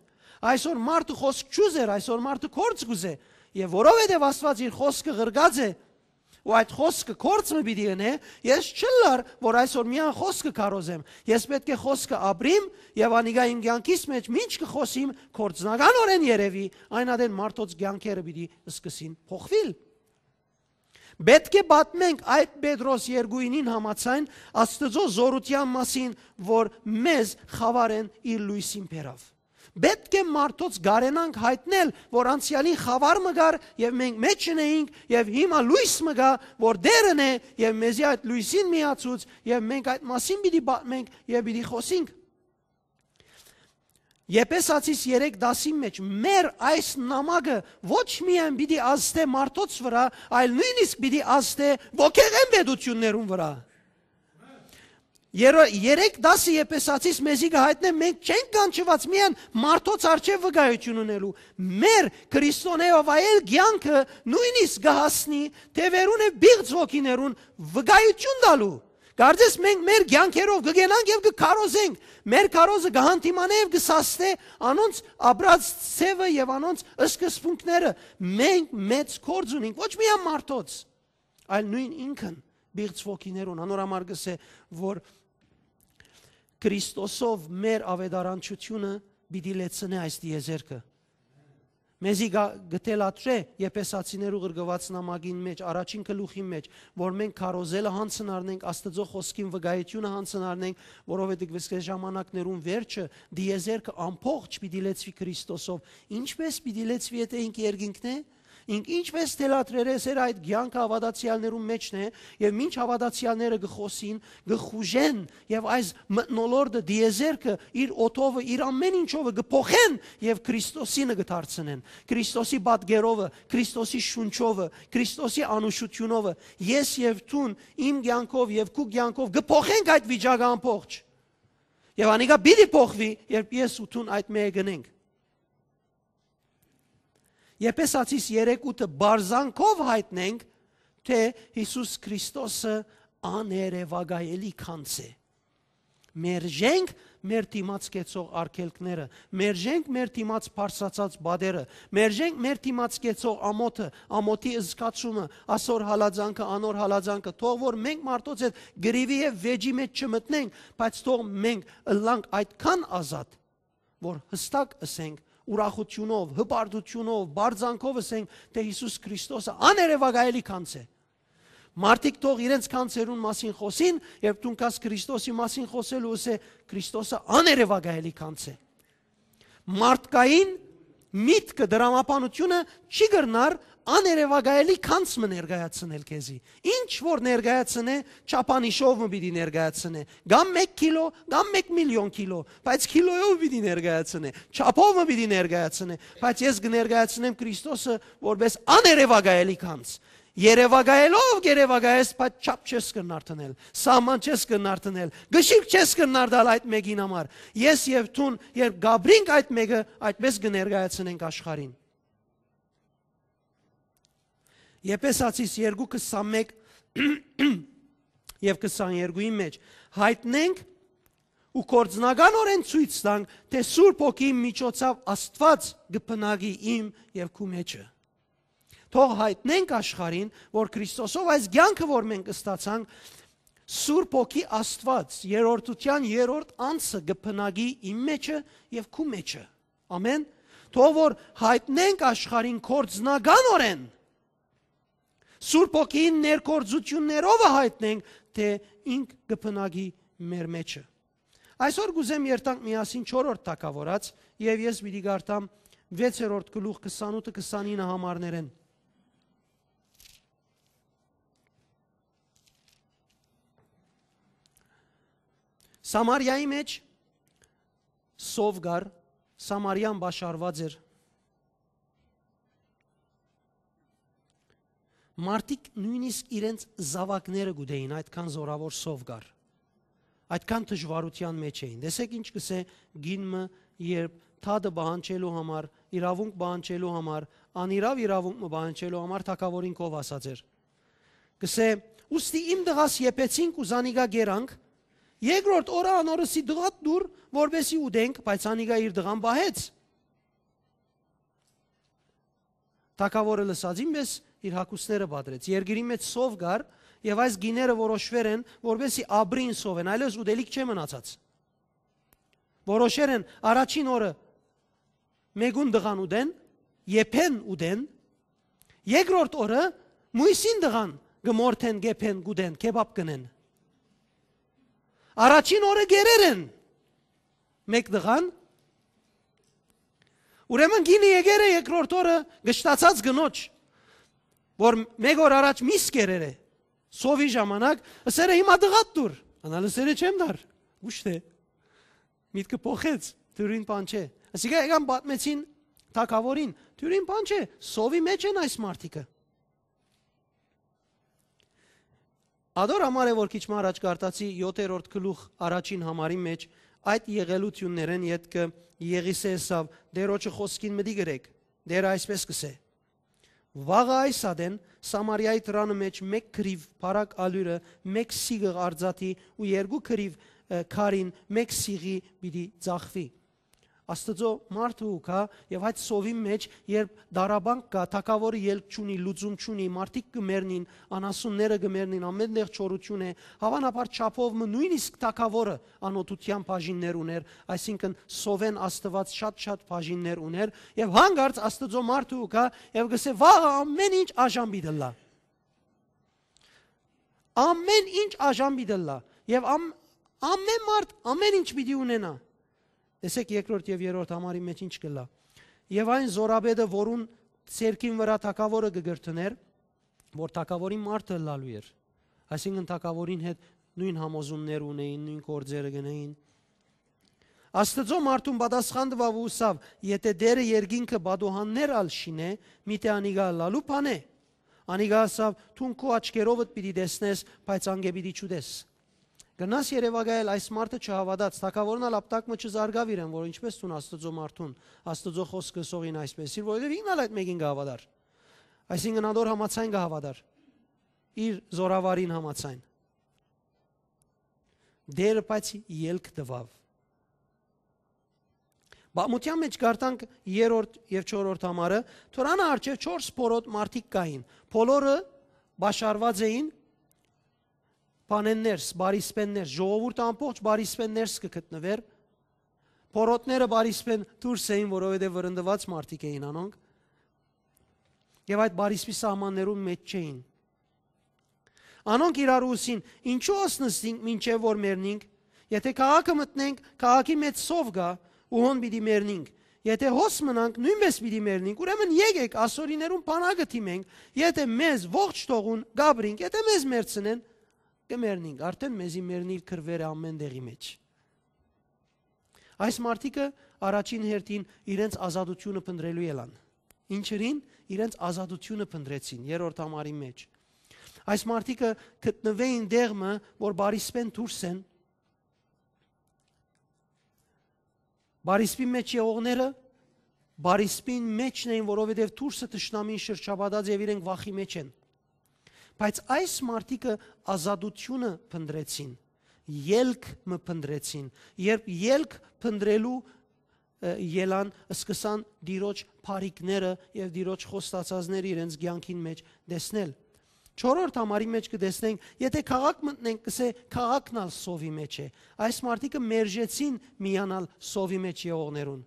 Այսօր մարդը խօսք չուզեր, այսօր մարդը գործ կուզէ, եւ որովհետեւ Աստուած իր խօսքը ղրկած է, ու այդ խօսքը գործ մը պիտի ընէ, ես չըլլար, որ այսօր միայն խօսքը քարոզեմ։ Ես պէտք է խօսքը ապրիմ, եւ անիկա իմ կեանքիս մէջ մինչ կը խօսիմ, գործնականօրէն երեւի, այն ատեն մարդոց կեանքերը պիտի սկսին փոխուիլ։ Պէտք է պատմենք այդ Պետրոս երկուինին համաձայն Աստուծոյ զօրութեան մասին, որ մեզ խաւարէն իր լոյսին բերաւ։ Պէտք է մարդոց կարենանք յայտնել, որ անցեալին խաւար մը կար եւ մենք մէջ ընէինք, եւ հիմա լոյս մը կայ, որ Տէրն է, եւ մեզի այդ լոյսին միացուց, եւ մենք այդ մասին պիտի պատմենք եւ պիտի խօսենք։ Եփեսացիս երեք տասին մէջ մեր այս նամակը ոչ միայն պիտի ազդէ մարդոց վրայ, այլ նոյնիսկ պիտի ազդէ ոգեղէն պետութիւններուն վրայ։ Երո-, երեք տասը Եփեսացիս մեզի կը յայտնէ, մենք չենք կանչուած միայն մարդոց առջեւ վկայութիւն ընելու։ Մեր քրիստոնեով այլ կեանքը նոյնիսկ կը հասնի թեւերուն եւ պիղծ ոգիներուն վկայութիւն տալու։ Կարծես մենք մեր կեանքերով կը գնանք եւ կը քարոզենք։ Մեր քարոզը կը հանդիմանէ եւ կը սաստէ անոնց ապրած ձեւը եւ անոնց սկզբունքները։ Մենք մեծ գործ ունենք, ոչ միայն մարդոց, այլ նոյն ինքն պիղծ ոգիներուն։ Անոր համար կ'ըսէ, որ Քրիստոսով մեր աւետարանչութիւնը պիտի լեցնէ այս տիեզերքը։ Մեզի գա-, կը թելադրէ Եփեսացիներու ղրկուած նամակին մէջ, առաջին գլուխին մէջ, որ մենք քարոզելը յանցն առնենք, Աստուծոյ խօսքին վկայութիւնը յանցն առնենք, որովհետեւ կ'ըսէ ժամանակներուն վերջը, տիեզերքը ամբողջ պիտի լեցուի Քրիստոսով։ Ինչպէս պիտի լեցուի, եթէ ինք երկինքն է, ինք ինչպէս թելադրեր էր, այդ կեանքը հաւատացեալներուն մէջն է, եւ մինչ հաւատացեալները կը խօսին, կը խուժեն, եւ այս մթնոլորտը, տիեզերքը, իր օդովը, իր ամեն ինչովը կը փոխեն եւ Քրիստոսինը կը դարձնեն։ Քրիստոսի պատկերովը, Քրիստոսի շունչովը, Քրիստոսի անուշութիւնովը։ Ես եւ դուն իմ կեանքով եւ քու կեանքով կը փոխենք այդ վիճակը ամբողջ։ Եւ անիկա պիտի փոխուի, երբ ես ու դուն այդ մէկը գնենք։ Եփեսացիս երեք ութը բարձանքով յայտնենք, թէ Յիսուս Քրիստոսը աներեւակայելի գանձ է։ Մերժենք մեր դիմաց կեցող արգելքները, մերժենք մեր դիմաց բարձրացած պատերը, մերժենք մեր դիմաց կեցող ամոթը, ամոթի զգացումը, ասոր հալածանքը, անոր հալածանքը, թող որ մենք մարդոց հետ կռիւի եւ վէճի մէջ չմտնենք, բայց թող մենք ըլլանք այդքան ազատ, որ յստակ ըսենք, ուրախութիւնով, հպարտութիւնով, բարձանքով ըսենք, թէ Յիսուս Քրիստոսը աներեւակայելի գանձ է։ Մարդիկ թող իրենց գանձերուն մասին խօսին, երբ դուն գաս Քրիստոսի մասին խօսելու, ըսէ, Քրիստոսը աներեւակայելի գանձ է։ Մարդկային միտքը, դրամաբանությունը չի կրնար աներեւակայելի գանձ մը ներկայացնել քեզի։ Ինչ որ ներկայացնէ, չափանիշով մը պիտի ներկայացնէ, կամ մեկ քիլո, կամ մեկ միլիոն քիլո, բայց քիլոյով պիտի ներկայացնէ, չափով մը պիտի ներկայացնէ, բայց ես կը ներկայացնեմ Քրիստոսը որպես աներեւակայելի գանձ։ Երեւակայելով կ'երեւակայես, բայց չափ չես կրնար դնել, սահման չես կրնար դնել, կշիռք չես կրնար տալ այդ մէկին համար։ Ես եւ դուն, երբ կ'ապրենք այդ մէկը, այդպես կը ներկայացնենք աշխարհին։ Եփեսացիս երկու քսանմեկ եւ քսաներկուին մէջ յայտնենք ու գործնականօրէն ցոյց տանք, թէ Սուրբ Հոգին միջոցաւ Աստուած կը բնակի իմ եւ քու մէջը։ Թող յայտնենք աշխարհին, որ Քրիստոսով այս կեանքը, որ մենք ստացանք, Սուրբ Հոգի Աստուած, երրորդութեան երրորդ անձը կը բնակի իմ մէջը եւ քու մէջը։ Ամեն։ Թող որ յայտնենք աշխարհին գործնականօրէն, Սուրբ Հոգին ներգործութիւններովը յայտնենք, թէ ինք կը բնակի մեր մէջը։ Այսօր կ'ուզեմ երթանք միասին չորրորդ թագաւորաց, եւ ես պիտի կարդամ վեցերորդ գլուխ քսանութը քսանինը համարներէն։ Սամարիայի մէջ սով կար, Սամարիան պաշարուած էր։ Մարդիկ նոյնիսկ իրենց զաւակները կ'ուտէին, այդքան զօրաւոր սով կար։ Այդքան դժուարութեան մէջ էին։ Տեսեք ինչ կ'ըսէ կին մը, երբ դատը պահանջելու համար, իրաւունք պահանջելու համար, անիրաւ իրաւունք մը պահանջելու համար թագաւորին կով ասած էր։ Կ'ըսէ. «Ուստի իմ տղաս եփեցինք ու զանիկա կերանք, երկրորդ օրը անոր ըսի. "Տղադ տուր, որպեսզի ուտենք", բայց անիկա իր տղան պահեց»։ Թագաւորը լսածին պէս իր հագուստները պատրեց։ Երկրի մէջ սով կար, եւ այս գիները որոշուեր են, որպեսզի ապրին սովէն, այլեւս ուտելիք չէ մնացած։ Որոշեր են առաջին օրը մէկուն տղան ուտեն, եփեն ուտեն, երկրորդ օրը մոյսին տղան կը մորթեն, կեփեն, կուտեն, քեբապ կ'ընեն։ Առաջին օրը կերեր են մէկ տղան, Ուրեմն կինը եկեր է երկրորդ օրը կշտացած կնոջ, որ մէկ օր առաջ միս կերեր է, սովի ժամանակ, ըսեր է, «Հիմա տղադ տուր»։ Անալ ըսեր է, «Չեմ տար»։ Ուշ է, միտքը փոխեց, դուրին բան չէ։ Ասիկա եկան պատմեցին թագավորին, դուրին բան չէ, սովի մեջ են այս մարդիկը։ Ադոր համար է, որ քիչ մը առաջ կարտացի յոթերորդ գլուխ առաջին համարի մեջ, այդ եղելութիւններէն ետքը Եղիսէ ըսաւ, «Տերոջը խօսքին մտի գրեք, Տերը այսպէս կ'ըսէ. Վաղը այս ատեն Սամարիայի դրանը մեջ մէկ քրիւ բարակ ալիւրը մէկ սիղ ղարծաթի ու երկու քրիւ, ը, քարին մէկ սիղի պիտի ծախուի»։ Աստուծոյ մարդը ու գայ, եւ այդ սովին մեջ, երբ դարաբանք կայ, թագաւորը ելք չունի, լուծում չունի, մարդիկ կը մեռնին, անասունները կը մեռնին, ամէն տեղ չորութիւն է, հաւանաբար չափով մը նոյնիսկ թագաւորը անօթութեան բաժիններ ունէր, այսինքն սովէն Աստուած շատ-շատ բաժիններ ունէր, եւ հանկարծ Աստուծոյ մարդը ու գայ, եւ կ'ըսէ, «Վաղը ամէն ինչ աժամ պիտի ըլլայ»։ Ամէն ինչ աժամ պիտի ըլլայ, եւ ամ-, ամէն մարդ ամէն ինչ պիտի ունենայ։ Տեսեք, երկրորդ եւ երրորդ համարի մեջ ինչ կ'ըլլայ։ Եւ այն զորապետը, որուն ձեռքին վրայ թագաւորը կը կրթներ, որ թագաւորին մարդը ըլլալու էր, այսինքն թագաւորին հետ նոյն համոզումներ ունէին, նոյն գործերը կ'ընէին։ Աստուծոյ մարդուն պատասխան տուաւ ու ըսաւ. «Եթէ Տէրը երկինքը պատուհաններ ալ շինէ, միթէ անիկա ըլլալու բան է»։ Անիկա ըսաւ. «Դուն քու աչքերովդ պիտի տեսնես, բայց անկէ պիտի չուտես»։ Գնաս երեւակայել, այս մարդը չհաւատաց, թագաւորն ալ ապտակ մը չզարգաւ իրեն, որ ինչպէս դուն Աստուծոյ մարդուն, Աստուծոյ խօսքը ըսողին այսպէս, իր որովհետեւ ինքն ալ այդ մէկին կը հաւատար։ Այսինքն ադոր համաձայն կը հաւատար, իր զորավարին համաձայն։ Տէրը բայց ելք տուաւ։ Պատմութեան մեջ կ'արդանք երրորդ եւ չորրորդ համարը, Թորանը առջեւ չորս փորոտ մարդիկ կային, բոլորը պաշարուած էին բանեն ներս, բարիսպեն ներս, ժողովուրդը ամբողջ բարիսպեն ներս կը գտնուէր, փորոտները բարիսպեն դուրս էին, որովհետեւ վրընդուած մարդիկ էին անոնք, եւ այդ բարիսպի սահմաններուն մեջ չէին։ Անոնք իրարու ըսին. «Ինչո՞ւ ըսնստինք մինչեւ որ մեռնինք։ Եթէ քաղաքը մտնենք, քաղաքի մեջ սով կայ, ու հոն պիտի մեռնինք։ Եթէ հոս մնանք, նոյնպէս պիտի մեռնինք։ Ուրեմն եկէք, ասորիներուն բանակը դիմենք, եթէ մեզ ողջ թողուն, կ'ապրինք, եթէ մեզ մեռցնեն, կը մեռնինք»։ Արդէն մեզի մեռնիլ կռուեր է ամէն տեղի մեջ։ Այս մարդիկը առաջին հերթին իրենց ազատութիւնը փնտռելու ելան։ Ինչերին իրենց ազատութիւնը փնտռեցին երրորդ համարի մեջ։ Այս մարդիկը գտնուէին տեղ մը, որ բարիսպեն դուրս են, բարիսպի մեջ եղողները բարիսպին մեջն էին, որովհետեւ դուրսը թշնամին շրջապատած եւ իրենք վախի մեջ են։ Բայց այս մարդիկը ազատութիւնը փնտռեցին, ելք մը փնտռեցին, երբ ելք փնտռելու, ը, ելան, սկսան Տիրոջ բարիքները եւ Տիրոջ խոստացածները իրենց կեանքին մեջ տեսնել։ Չորրորդ համարի մեջ կը տեսնենք, եթէ քաղաք մտնենք, կ'ըսէ, քաղաքն ալ սովի մեջ է։ Այս մարդիկը մերժեցին միանալ սովի մեջ եղողներուն։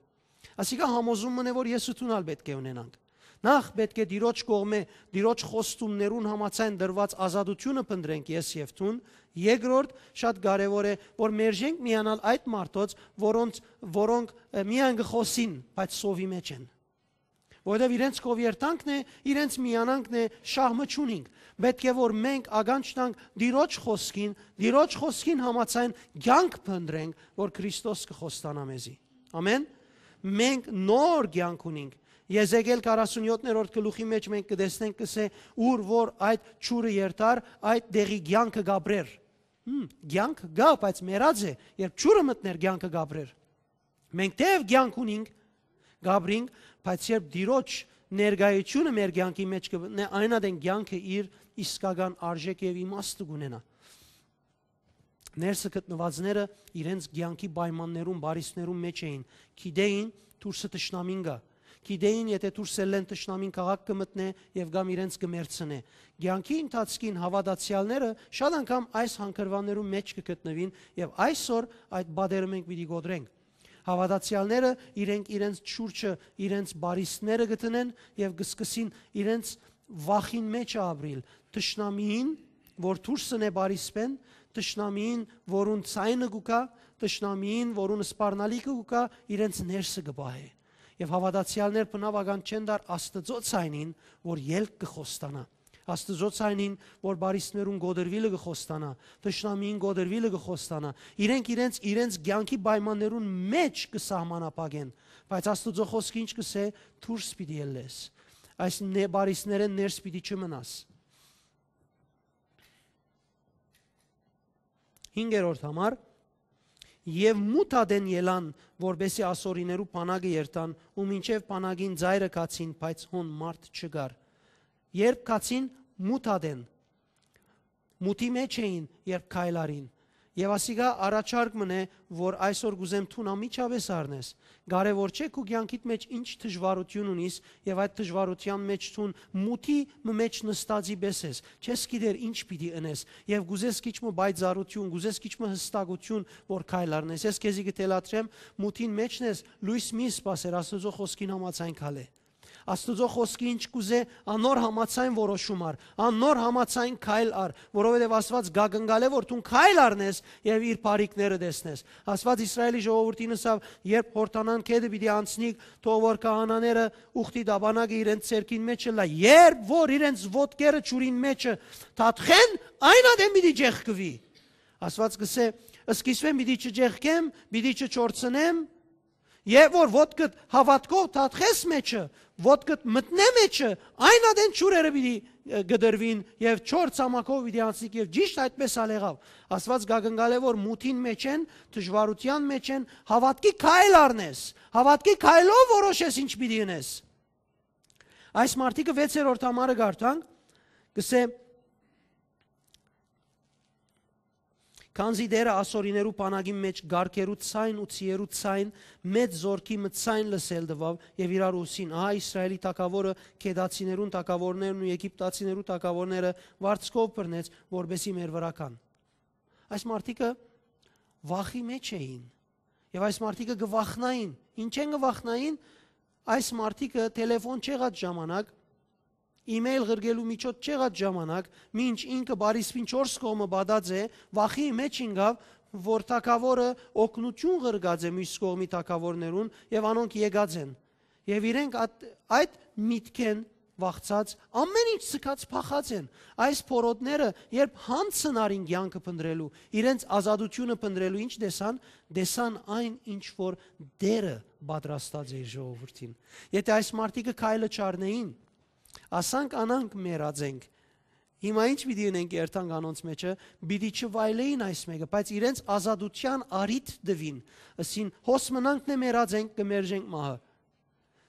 Ասիկա համոզում մըն է, որ ես ու դուն ալ պէտք է ունենանք։ Նախ պէտք է Տիրոջ կողմէ, Տիրոջ խոստումներուն համաձայն տրուած ազատութիւնը փնտռենք ես եւ դուն, երկրորդ, շատ կարեւոր է, որ մերժենք միանալ այդ մարդոց, որոնց, որոնք, ը, միայն կը խօսին, բայց սովի մեջ են։ Որովհետեւ իրենց կով երթանքն է, իրենց միանանքն է, շահ մը չունինք։ Պէտք է որ մենք ականջ տանք Տիրոջ խօսքին, Տիրոջ խօսքին համաձայն կեանք փնտռենք, որ Քրիստոս կը խոստանայ մեզի։ Ամէն։ Մենք նոր կեանք ունինք։ Եզեկիել քառասունյոթերորդ գլուխի մեջ մենք կը տեսնենք, կ'ըսէ, ուր որ այդ ջուրը երթար, այդ տեղի կեանքը կ'ապրեր։ Հմ, կեանք կայ, բայց մեռած է, երբ ջուրը մտներ, կեանքը կ'ապրեր։ Մենք թեեւ կեանք ունինք, կ'ապրինք, բայց երբ Տիրոջ ներկայությունը մեր կեանքի մեջ կը մտնէ, այն ատեն կեանքը իր իսկական արժեքը եւ իմաստը կունենայ։ Ներսը գտնուածները իրենց կեանքի պայմաններուն, բարիսպներուն մեջ էին, գիտեին դուրսը թշնամին կայ, գիտեին, եթէ դուրս ելլեն, թշնամին քաղաք կը մտնէ եւ կամ իրենց կը մեռցնէ։ Կեանքի ընթացքին հաւատացեալները շատ անգամ այս հանգրուաններուն մեջ կը գտնուին եւ այսօր այդ պատերը մենք պիտի կոտրենք։ Հաւատացեալները իրենք իրենց շուրջը, իրենց բարիսպները կը դնեն եւ կը սկսին իրենց վախին մեջ ապրիլ, թշնամիին, որ դուրս ընէ բարիսպեն, թշնամիին, որուն ձայնը կու գայ, թշնամիին, որուն սպառնալիքը կու գայ, իրենց ներսը կը պահէ։ Եւ հաւատացեալներ բնաւական չեն տար Աստուծոյ ցայնին, որ ելք կը խոստանայ։ Աստուծոյ ցայնին, որ բարիսներուն կոտրուիլը կը խոստանայ, թշնամիին կոտրուիլը կը խոստանայ։ Իրենք իրենց, իրենց կեանքի պայմաններուն մէջ կը սահմանափակեն, բայց Աստուծոյ խօսքը ինչ կ'ըսէ, դուրս պիտի ելլես։ Այս նե-, բարիսներէն ներս պիտի չմնաս։ Հինգերորդ համար, եւ մութ ատեն ելան, որպէսզի ասորիներու բանակը երթան, ու մինչեւ բանակին ծայրը գացին, բայց հոն մարդ չկար։ Երբ գացին մութ ատեն, մութի մէջ էին, երբ քայլ առին։ Եւ ասիկա առաջարկ մըն է, որ այսօր կ'ուզեմ դուն անմիջապէս առնես։ Կարեւոր չէ քու կեանքիդ մէջ ինչ դժուարութիւն ունիս, եւ այդ դժուարութեան մէջ դուն մութի մը մէջ նստածի պէս ես, չես գիտեր ինչ պիտի ընես, եւ կ'ուզես քիչ մը պայծառութիւն, կ'ուզես քիչ մը յստակութիւն, որ քայլ առնես։ Ես քեզի կը թելադրեմ, մութին մէջն ես, լոյս մի սպասեր, Աստուծոյ խօսքին համաձայն քալէ։ Աստուծոյ խօսքը ինչ կ'ուզէ, անոր համաձայն որոշում առ, անոր համաձայն քայլ առ, որովհետեւ Աստուած կ'ակնկալէ, որ դուն քայլ առնես եւ իր բարիքները տեսնես։ Աստուած Իսրայէլի ժողովուրդին ըսաւ, երբ Յորդանան գետը պիտի անցնիք, թող որ քահանաները ուխտի տապանակը իրենց ձեռքին մէջ ըլլայ, երբ որ իրենց ոտքերը ջուրին մէջը թաթխեն, այն ատեն պիտի ճեղքուի։ Աստուած կ'ըսէ, սկիզբէն պիտի չճեղքեմ, պիտի չչորցնեմ, եւ որ ոտքդ հաւատքով թաթխես մէջը, ոտքդ մտնէ մէջը, այն ատեն ջուրերը պիտի, ը, կտրուին եւ չոր ցամաքով պիտի անցնիք, եւ ճիշդ այդպէս ալ եղաւ։ Աստուած կ'ակնկալէ, որ մութին մէջ են, դժուարութեան մէջ են, հաւատքի քայլ առնես, հաւատքի քայլով որոշես ինչ պիտի ընես։ Այս մարդիկը վեցերորդ համարը կարդանք, կ'ըսէ, քանզի Տէրը ասորիներու բանակին մէջ կառքերու ցայն ու ձիերու ցայն, մեծ զօրքի մը ցայն լսել տուաւ եւ իրարու ըսին. «Ահա Իսրայէլի թագաւորը գետացիներուն թագաւորներն ու եգիպտացիներու թագաւորները վարձքով բռնեց, որպէսզի մեր վրայ գան»։ Այս մարդիկը վախի մէջ էին եւ այս մարդիկը կը վախնային։ Ինչէն կը վախնային։ Այս մարդիկը թելեֆոն չեղած ժամանակ, email ղրկելու միջոց չեղած ժամանակ, մինչ ինքը բարիսպին չորս կողմը պատած է, վախի մէջ ինկաւ, որ թագաւորը օգնութիւն ղրկած է մյուս կողմի թագաւորներուն եւ անոնք եկած են։ Եւ իրենք այդ, այդ միտքէն վախցած, ամէն ինչ սկաց փախած են։ Այս փորոտները, երբ յանցն առին կեանքը փնտռելու, իրենց ազատութիւնը փնտռելու, ինչ տեսան, տեսան այն, ինչ որ Տէրը պատրաստած է իր ժողովուրդին։ Եթէ այս մարդիկը քայլը չառնեին, ասանք անանք մեռած ենք։ Հիմա ինչ պիտի ընենք երթանք անոնց մեջը, պիտի չվայլեին այս մէկը, բայց իրենց ազատութեան առիթ տուին, ըսին, հոս մնանք նե մեռած ենք, կը մերժենք մահը։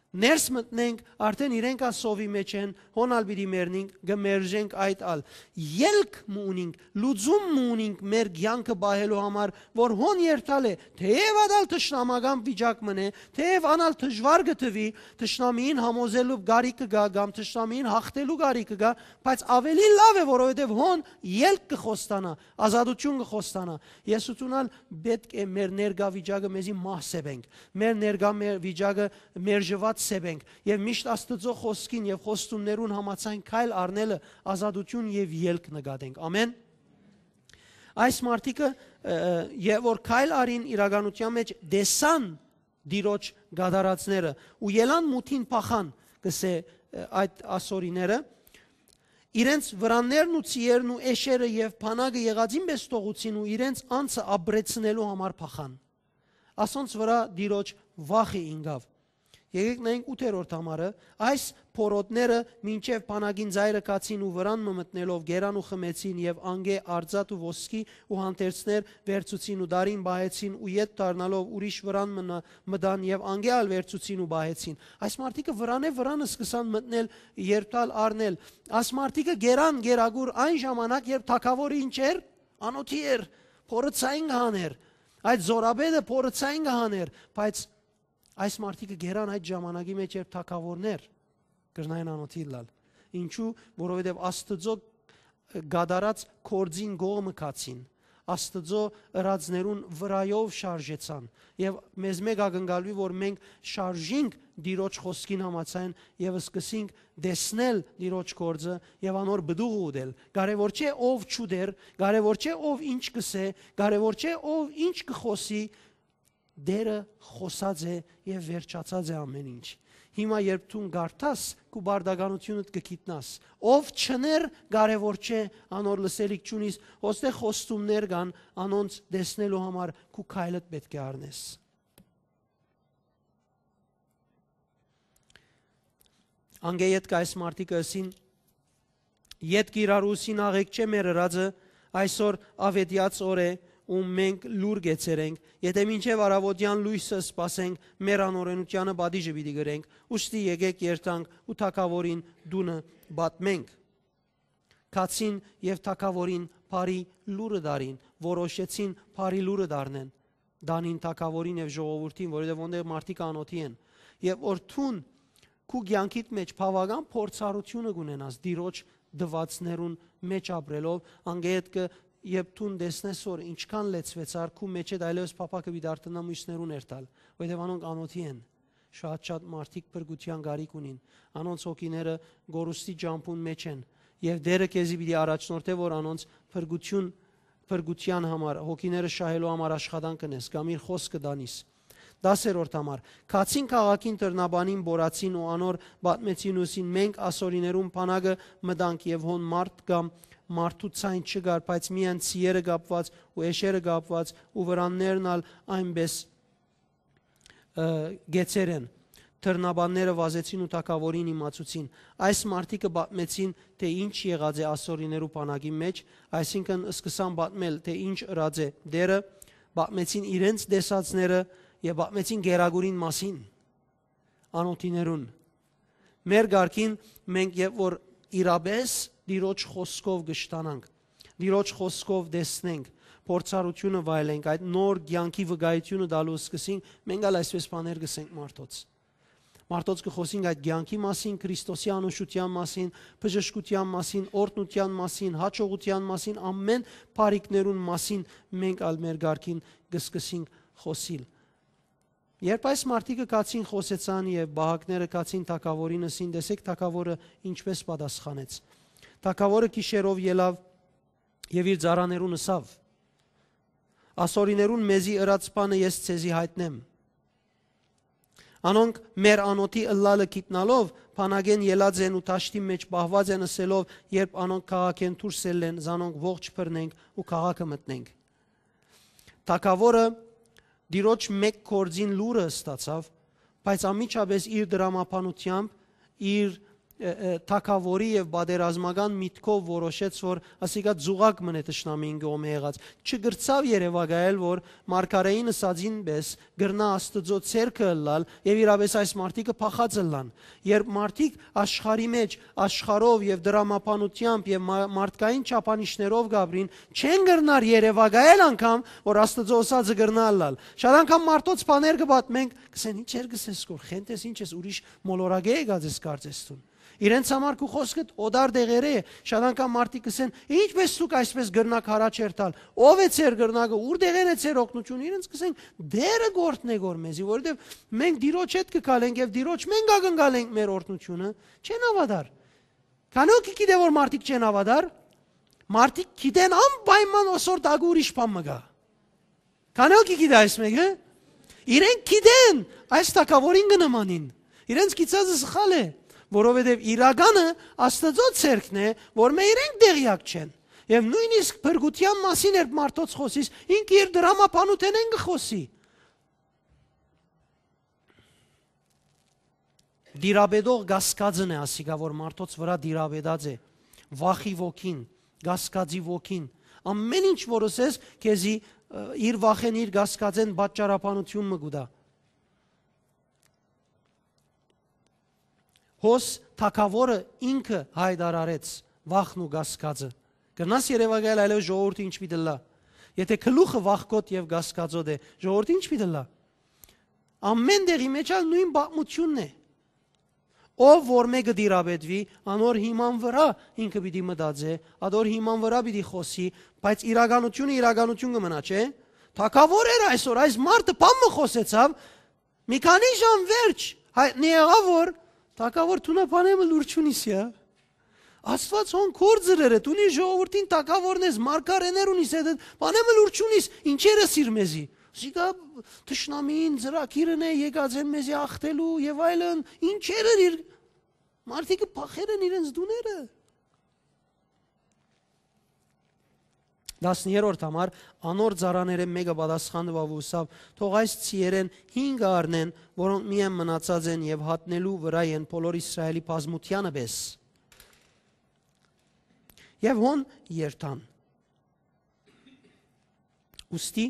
Ներս մտնենք, արդեն իրենք ալ սովի մեջ են, հոն ալ պիտի մեռնենք, կը մերժենք այդ ալ։ Ելք մը ունինք, լուծում մը ունինք մեր կեանքը պահելու համար, որ հոն երթալ է, թեև ատալ թշնամական վիճակ մն է, թեև անալ դժուար կը թվի, թշնամիին համոզելու կարիքը կա կամ թշնամիին հաղթելու կարիքը կա, բայց ավելի լաւ է, որովհետեւ հոն ելք կը խոստանայ, ազատութիւն կը խոստանայ։ Ես ութունալ պէտք է մեր ներկայ վիճակը մեզի մահ սեպենք, մեր ներկայ մեր վիճակը մերժուած սեպենք եւ միշտ Աստուծոյ խօսքին եւ խոստումներուն համաձայն քայլ առնելը ազատութիւն եւ ելք նկատենք։ Ամեն։ Այս մարդիկը, ը, ը, եւ որ քայլ առին իրականության մեջ, տեսան Տիրոջ գադարածները ու ելան մութին փախան, կսե, ը, այդ ասորիները, իրենց վրաններն ու ծիերն ու էշերը եւ բանակը եղածին պես թողուցին ու իրենց անձը ապրեցնելու համար փախան։ Ասոնց վրա Տիրոջ վախը ինկաւ։ Եկեք նայենք ութերորդ համարը։ Այս փորոտները մինչև բանակին ծայրը գացին ու վրան մը մտնելով գերան ու խմեցին, եւ անկէ արծաթ ու ոսկի ու հանդերձներ վերցուցին ու տարին պահեցին ու ետ դառնալով ուրիշ վրան մնա-, մտան եւ անկէ ալ վերցուցին ու պահեցին։ Այս մարդիկը վրանէ վրան սկսան մտնել, երթալ, առնել։ Այս մարդիկը գերան գերագուր այն ժամանակ, երբ թագավորը ինչ էր, անօթի էր, փորը ցայն կը հաներ, այդ զորապետը փորը ցայն կը հաներ, բայց այս մարդիկը գերան այդ ժամանակի մեջ, երբ թագավորներ կրնային անօթի ըլլալ։ Ինչու՞, որովհետև Աստծո կատարած գործին կողմը գացին, Աստծո ըրածներուն վրայով շարժեցան, եւ մեզ մէկ ակնկալուի, որ մենք շարժինք Տիրոջ խոսքին համաձայն եւ սկսենք տեսնել Տիրոջ գործը եւ անոր պտուղը ուտել։ Կարեւոր չէ ով չուտեր, կարեւոր չէ ով ինչ կսէ, կարեւոր չէ ով ինչ կխոսի, Տէրը խօսած է եւ վերջացած է ամէն ինչ։ Հիմա երբ դուն կարդաս, քու պարտականութիւնդ կը գիտնաս։ Ով չըներ, կարեւոր չէ, անոր լսելիք չունիս, ոստե խոստումներ կան, անոնց տեսնելու համար քու քայլդ պէտք է առնես։ Անկէ ետք այս մարդիկը ըսին. «Ետք իրարու ուսին աղէկ չէ մեր ըրածը, այսօր աւետեաց օր է ու մենք լուր կեցեր ենք, եթէ մինչեւ առաւօտեան լոյսը սպասենք, մեր անօրենութեանը պատիժը պիտի կրենք, ուստի եկէք երթանք ու թագաւորին տունը պատմենք»։ Գացին եւ թագաւորին բարի լուրը տարին, որոշեցին բարի լուրը դառնեն, տանին թագաւորին եւ ժողովուրդին, որովհետեւ ոնտեղ մարդիկ անօթի են։ Եւ որ դուն քու կեանքիդ մէջ բաւական փորձառութիւնը կունենաս Տիրոջ տուածներուն մէջ ապրելով, անգետ կը, երբ դուն տեսնես, որ ինչքան լեցուեցար, քու մէջդ այլեւս փափակը պիտի դարձնայ մյուսներուն երթալ, որովհետեւ անոնք անօթի են։ Շատ-շատ մարդիկ փրկութեան կարիք ունին, անոնց հոգիները գորուստի ճամբուն մէջ են, եւ Տէրը քեզի պիտի առաջնորդէ, որ անոնց փրկութիւն, փրկութեան համար, հոգիները շահելու համար աշխատանք կ'ընես կամ իր խօսքը տանիս։ Տասերորդ համար. Գացին քաղաքին դռնաբանին, բորացին ու անոր պատմեցին ու ըսին. «Մենք ասորիներուն բանակը մտանք եւ հոն մարդ կամ մարդու ցայն չկար, բայց միայն ցիերը կապուած ու էշերը կապուած ու վրաններն ալ այնպէս, ը, գեցեր են»։ Դռնաբանները վազեցին ու թագաւորին իմացուցին։ Այս մարդիկը պատմեցին, թէ ինչ եղած է ասորիներու բանակին մէջ, այսինքն սկսան պատմել, թէ ինչ ըրած է Տէրը, պատմեցին իրենց տեսածները եւ պատմեցին գերագուրին մասին անօթիներուն։ Մեր կարգին մենք երբ որ իրապէս Տիրոջ խօսքով կշտանանք, Տիրոջ խօսքով տեսնենք, փորձառութիւնը վայելենք, այդ նոր կեանքի վկայութիւնը տալու սկսենք, մենք ալ այսպէս բաներ կ'ըսենք մարդոց։ Մարդոց կը խօսենք այդ կեանքի մասին, Քրիստոսի անուշութեան մասին, բժշկութեան մասին, օրհնութեան մասին, հաջողութեան մասին, ամէն բարիքներուն մասին մենք ալ մեր կարգին կը սկսենք խօսիլ։ Երբ այս մարդիկը գացին, խօսեցան եւ պահակները գացին թագաւորին, ըսին. «Տեսէք թագաւորը ինչպէս պատասխանեց»։ Թագաւորը գիշերով ելաւ եւ իր ծառաներուն ըսաւ. «Ասորիներուն մեզի ըրած բանը ես ձեզի յայտնեմ»։ Անոնք մեր անօթի ըլլալը գիտնալով, բանակէն ելած են ու դաշտին մէջ պահուած են, ըսելով. «Երբ անոնք քաղաքէն դուրս ելլեն, զանոնք ողջ բռնենք ու քաղաքը մտնենք»։ Թագաւորը Տիրոջ մէկ գործին լուրը ստացաւ, բայց անմիջապէս իր դրամաբանությամբ, իր, ը, ը, թագաւորի եւ պատերազմական միտքով որոշեց, որ ասիկա ձուղակ մըն է թշնամին կողմէ եղած։ Չկրցաւ երեւակայել, որ մարգարէին ըսածին պէս կրնայ Աստուծոյ ձեռքը ըլլալ եւ իրապէս այս մարդիկը փախած ըլլան։ Երբ մարդիկ աշխարհի մէջ, աշխարհով եւ դրամաբանությամբ եւ մա-, մարդկային չափանիշներով կ'ապրին, չեն կրնար երեւակայել անգամ, որ Աստուծոյ ըսածը կրնայ ըլլալ։ Շատ անգամ մարդոց բաներ կը պատմենք, կ'ըսեն. «Ի՞նչ էր կ'ըսես, կոր խենթ ես, ի՞նչ ես, ուրիշ մոլորակէ եկած ես կարծես դուն»։ Իրենց համար քու խօսքդ օտար տեղերէ է։ Շատ անգամ մարդիկ կ'ըսեն. «Ինչպէս դուք այսպէս կրնաք յառաջ երթալ, ո՞վ է ձեր կրնակը, ո՞ւր տեղէն է ձեր օգնությունը»։ Իրենց կ'ըսենք. «Տէրը կ'օրհնէ կոր մեզի, որովհետեւ մենք Տիրոջ հետ կը քալենք եւ Տիրոջ մէնք ակնկալենք մեր օրհնությունը»։ Չեն հաւատար։ Քանի՞ հոգի գիտէ, որ մարդիկ չեն հաւատար։ Մարդիկ գիտեն անպայման, ոսոր տակը ուրիշ բան մը կայ։ Քանի՞ հոգի գիտէ այս մէկը։ Իրենք գիտեն, այս թագաւորին կը նմանին։ Իրենց գիծածը սխալ է, որովհետեւ իրականը Աստուծոյ ձեռքն է, որ մէ իրենք տեղեակ չեն։ Եւ նոյնիսկ փրկութեան մասին երբ մարդոց խօսիս, ինքը իր դրամաբանութենէն կը խօսի։ Տիրապետող կասկածն է ասիկա, որ մարդոց վրայ տիրապետած է, վախի ոգին, կասկածի ոգին։ Ամէն ինչ որ ըսես, քեզի, ը, իր վախեն, իր կասկածեն պատճառաբանութիւն մը կու տայ։ Հոս թագաւորը ինքը յայտարարեց վախն ու կասկածը։ Կրնաս երեւակայել այլեւս ժողովուրդը ինչ պիտի ըլլայ։ Եթէ գլուխը վախկոտ եւ կասկածոտ է, ժողովուրդը ինչ պիտի ըլլայ։ Ամէն տեղի մեջ ալ նոյն պատմութիւնն է։ Ով որ մէկը տիրապետուի, անոր հիման վրայ ինքը պիտի մտածէ, ադոր հիման վրայ պիտի խօսի, բայց իրականությունը իրականություն կը մնայ, չէ՞։ Թագաւոր էր այսօր, այս մարդը բան մը խօսեցաւ, մի քանի ժամ վերջ, հայտնի եղաւ, որ թագաւոր դունը բանէ մը լուր չունիս, յա։ Աստուած հոն կորձրեր է, դունի ժողովուրդին թագաւորն ես, մարգարէներ ունիս, հետ, բանէ մը լուր չունիս, ինչեր ես իր մեզի։ Չկա, թշնամին ծրագիր ընէ, եկած են մեզի ախտելու եւ այլն, ինչեր էր իր, մարդիկը փախեր են իրենց տուները։ Տասներորդ համար, անոր ծառաներէն մէկը պատասխան տուաւ ու ըսաւ. «Թող այս ցիերէն հինգը առնեն, որոնք միայն մնացած են, եւ հատնելու վրայ են բոլոր Իսրայէլի բազմութեանը պէս»։ Եւ հոն երթան։ Ուստի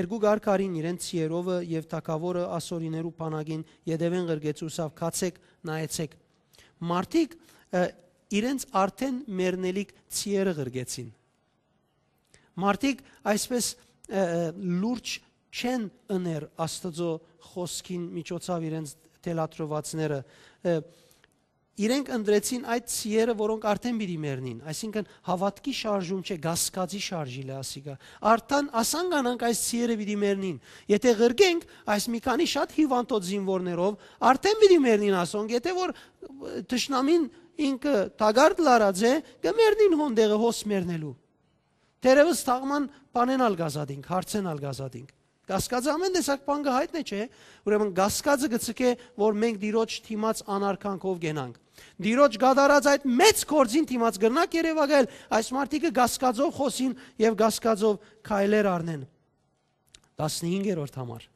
երկու կարգ առին իրենց ցիերովը, եւ թագաւորը ասորիներու բանակին ետեւէն ղրկեց ու ըսաւ. «Գացէք, նայեցէք»։ Մարդիկ, ը, իրենց արդէն մեռնելիք ցիերը ղրկեցին։ Մարդիկ այսպես, ը, ը, լուրջ չեն ըներ Աստուծոյ խօսքին միջոցաւ իրենց թելադրուածները։ Ը, իրենք ընտրեցին այդ ցիերը, որոնք արդէն պիտի մեռնին, այսինքն՝ հաւատքի շարժում չէ, կասկածի շարժիլ է ասիկա։ Արդեն ասանկանանք այս ցիերը պիտի մեռնին։ Եթե ղրկենք այս մի քանի շատ հիւանդոց զինուորներով, արդէն պիտի մեռնին ասոնք, եթե որ, ը, թշնամին ինքը թակարդ լարած է, կը մեռնին հոն տեղը հոս մեռնելու։ Թերեւս թաղման բանեն ալ կ'ազատինք, հարցեն ալ կ'ազատինք։ Կասկածը ամեն տեսակ բան կը յայտնէ, չէ՞։ Ուրեմն կասկածը կը ցկէ, որ մենք Տիրոջ դիմաց անարգանքով կենանք։ Տիրոջ կատարած այդ մեծ գործին դիմաց կրնանք երեւակայել, այս մարդիկը կասկածով խօսին եւ կասկածով քայլեր առնեն։ Տասնհինգերորդ համար։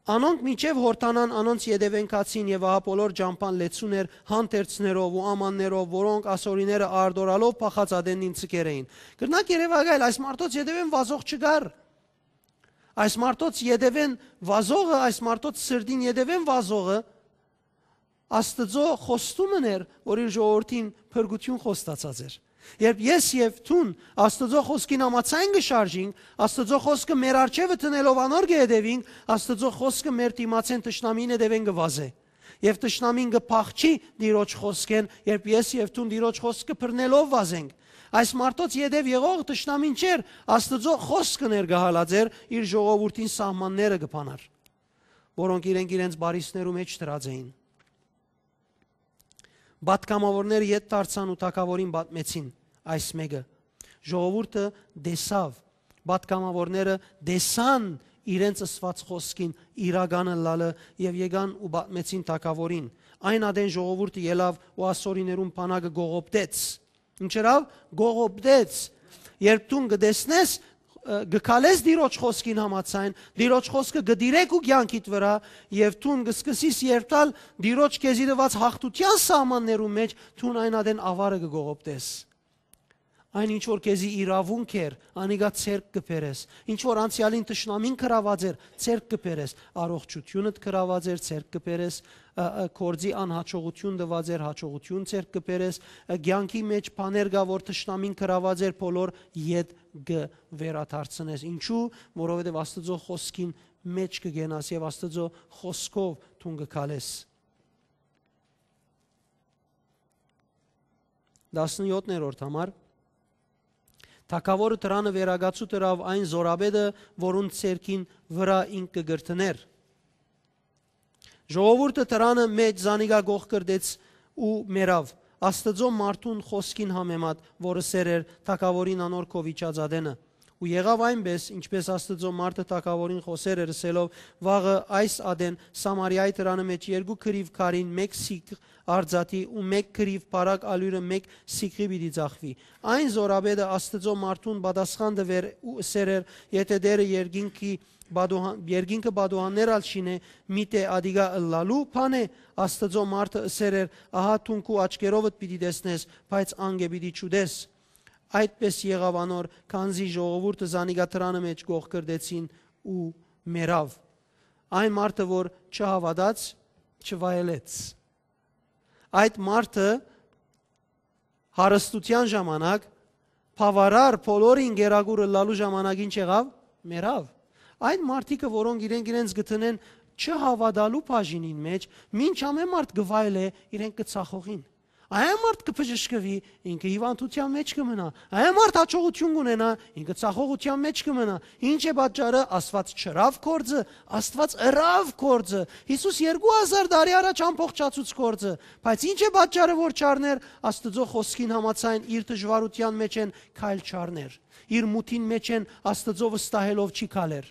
Անոնք մինչեւ Յորդանան անոնց ետեւէն գացին, եւ ահա բոլոր ճամբան լեցուն էր հանդերձներով ու ամաններով, որոնք ասորիները արտորալով փախած ատեննին ցկեր էին։ Կրնանք երեւակայել, այս մարդոց ետեւէն վազող չկար։ Այս մարդոց ետեւէն վազողը, այս մարդոց սրտին ետեւէն վազողը Աստուծոյ խոստումն էր, որ իր ժողովուրդին փրկութիւն խոստացած էր։ Երբ ես եւ դուն Աստուծոյ խօսքին համաձայն կը շարժինք, Աստուծոյ խօսքը մեր առջեւը դնելով անոր կը հետեւինք, Աստուծոյ խօսքը մեր դիմացէն թշնամին հետեւէն կը վազէ։ Եւ թշնամին կը փախչի Տիրոջ խօսքէն, երբ ես եւ դուն Տիրոջ խօսքը բռնելով վազենք։ Այս մարդոց ետեւ եղող թշնամին չէր, Աստուծոյ խօսքը ներկայացած էր, իր ժողովուրդին սահմանները կը բանար, որոնք իրենք իրենց բարիսներու մէջ դրած էին։ Պատգամաւորները ետ դարձան ու թագաւորին պատմեցին այս մէկը։ Ժողովուրդը տեսաւ, պատգամաւորները տեսան իրենց ըսուած խօսքին իրական ըլլալը եւ եկան ու պատմեցին թագաւորին։ Այն ատեն ժողովուրդը ելաւ ու ասորիներուն բանակը կողոպտեց։ Ինչ ըրաւ, կողոպտեց։ Երբ դուն կը տեսնես, ը, կը քալես Տիրոջ խօսքին համաձայն, Տիրոջ խօսքը կը դիրեք ու կեանքիդ վրայ, եւ դուն կը սկսես երթալ Տիրոջ քեզի տուած յաղթութեան սահմաններուն մէջ, դուն այն ատեն աւարը կը կողոպտես։ Այն ինչ որ քեզի իրաւունք էր, անիկա ձեռք կը բերես։ Ինչ որ անցեալին թշնամին գրաւած էր, ձեռք կը բերես։ Առողջութիւնդ գրաւած էր, ձեռք կը բերես, ը, ը, գործի անհաջողութիւն տուած էր, հաջողութիւն ձեռք կը բերես, ը, կեանքի մէջ բաներ կա, որ թշնամին գրաւած էր, բոլոր ետ կը վերադարձնես։ Ինչու՞, որովհետեւ Աստուծոյ խօսքին մէջ կը կենաս եւ Աստուծոյ խօսքով դուն կը քալես։ Տասնյոթերորդ համար։ Թագաւորը դրանը վերակացուտ ըրաւ այն զորապետը, որուն ձեռքին վրայ ինք կը կրթներ։ Ժողովուրդը դրանը մէջ զանիկա կողքրտեց ու մեռաւ, Աստուծոյ մարդուն խօսքին համեմատ, որ ըսեր էր թագաւորին անոր քովիճած ատենը։ Ու եղաւ այնպէս, ինչպէս Աստուծոյ մարդը թագաւորին խօսեր էր, ըսելով. «Վաղը այս ատեն Սամարիայի դրանը մէջ երկու կռիւ քարին մէկ սիգ արծաթի ու մէկ կռիւ բարակ ալիւրը մէկ սիգի պիտի ծախուի»։ Այն զորապետը Աստուծոյ մարդուն պատասխան տուեր ու ըսեր էր. «Եթէ Տէրը երկինքի պատուհան-, երկինքը պատուհաններ ալ շինէ, միթէ ատիկա ըլլալու բան է»։ Աստուծոյ մարդը ըսեր էր. «Ահա դուն քու աչքերովդ պիտի տեսնես, բայց անկէ պիտի չուտես»։ Այդպէս եղաւ անոր, քանզի ժողովուրդը զանիկա դրանը մէջ կողքրտեցին ու մեռաւ։ Այն մարդը, որ չհաւատաց, չվայելեց։ Այդ մարդը հարստութեան ժամանակ, բաւարար բոլորին գերագուր ըլլալու ժամանակ ինչ եղաւ։ Մեռաւ։ Այն մարդիկը, որոնք իրենք իրենց գտնեն չհաւատալու բաժինին մէջ, մինչ ամեն մարդ կը վայելէ, իրենք կը ծախողին։ Այն մարդ կը բժշկուի, ինքը հիւանդութեան մէջ կը մնայ։ Այն մարդ հաջողութիւն կունենայ, ինքը ծախողութեան մէջ կը մնայ։ Ինչ է պատճառը։ Աստուած չըրաւ գործը, Աստուած ըրաւ գործը։ Յիսուս երկու հազար տարի առաջ ամբողջացուց գործը, բայց ինչ է պատճառը, որ չառներ։ Աստուծոյ խօսքին համաձայն, իր դժուարութեան մէջ են քայլ չառներ, իր մութին մէջ են Աստուծոյ վստահելով չի քալեր։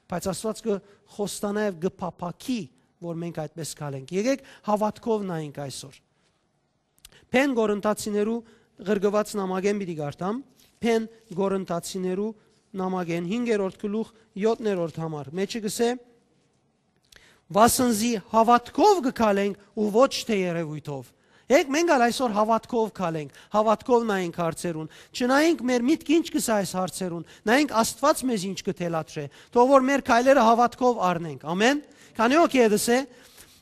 Բայց Աստուած կը խոստանայ եւ կը փափաքի, որ մենք այդպես քալենք։ Եկեք հաւատքով նայենք այսօր։ Փեն Կորինթացիներու ղրկուած նամակէն պիտի կարդամ, Փեն Կորինթացիներու նամակէն հինգերորդ գլուխ, յոթերորդ համար։ Մեջը կսէ. «Վասն զի հաւատքով կը քալենք ու ոչ թէ երեւոյթով»։ Եկեք մենք ալ այսօր հաւատքով քալենք, հաւատքով նայենք հարցերուն։ Չնայենք մեր միտքը ինչ կ'ըսէ այս հարցերուն, նայենք Աստուած մեզ ինչ կը թելադրէ։ Թող որ մեր քայլերը հաւատքով առնենք։ Ամեն։ Քանի՞ հոգի է դսե։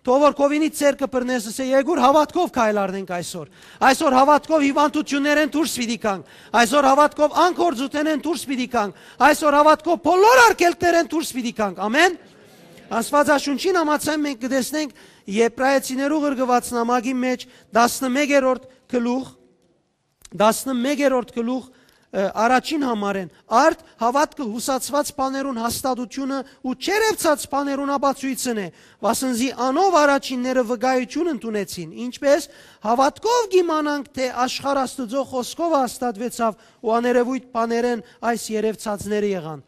Թող որ քովինից ձեռքը բռնես, ըսէ, «Եկուր, հաւատքով քայլ առնենք այսօր»։ Այսօր հաւատքով հիւանդութիւններէն դուրս պիտի գանք։ Այսօր հաւատքով անկործութենէն դուրս պիտի գանք։ Այսօր հաւատքով բոլոր արգելքներէն դուրս պիտի գանք։ Ամեն։ Աստուածաշունչին համաձայն մենք կը տեսնենք Եբրայեցիներու ղրկուած նամակի մէջ տասնմեկերորդ գլուխ, տասնմեկերորդ գլուխ, ը, առաջին համարէն. «Արդ հաւատքը յուսացուած բաներուն հաստատութիւնը ու չերեւցած բաներուն ապացոյցն է, վասն զի անով առաջինները վկայութիւն ընդունեցին»։ Ինչպէս, հաւատքով կ'իմանանք թէ աշխարհ Աստուծոյ խօսքովը հաստատուեցաւ ու աներեւոյթ բաներէն այս երեւցածները եղան։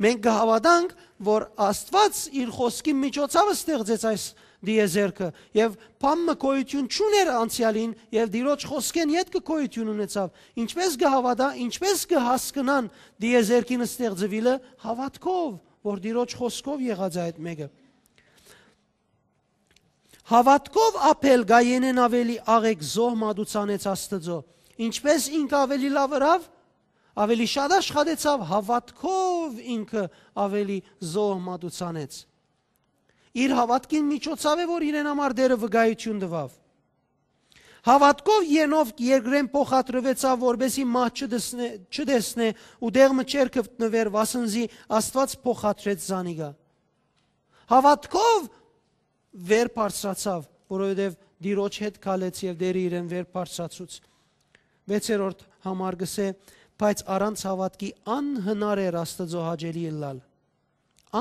Մենք կը հաւատանք, որ Աստուած իր խօսքին միջոցաւը ստեղծեց այս դիեզերքը եւ բան մը գոյութիւն չունէր անցեալին եւ Տիրոջ խօսքէն ետքը գոյութիւն ունեցաւ։ Ինչպէս կը հաւատա, ինչպէս կը հասկնան դիեզերքին ստեղծուիլը? Հաւատքով, որ Տիրոջ խօսքով եղած է այդ մէկը։ Հաւատքով Աբէլ Կայենէն աւելի աղէկ զոհ մատուցանեց Աստուծոյ։ Ինչպէս ինքը աւելի լաւ ըրաւ, աւելի շատ աշխատեցաւ, հաւատքով ինքը աւելի զոհ մատուցանեց։ Իր հաւատքին միջոցաւ է, որ իրեն համար Տէրը վկայութիւն տուաւ։ Հաւատքով Ենովք երկրէն փոխադրուեցաւ, որպէսզի մահ չտեսնէ, չտեսնէ ու տեղ մը չէր գտնուեր, վասն զի Աստուած փոխադրեց զանիկա։ Հաւատքով վեր բարձրացաւ, որովհետեւ Տիրոջ հետ քալեց եւ Տէրը իրեն վեր բարձրացուց։ Վեցերորդ համար կսէ, բայց առանց հաւատքի անհնար էր Աստուծոյ հաճելի ըլլալ։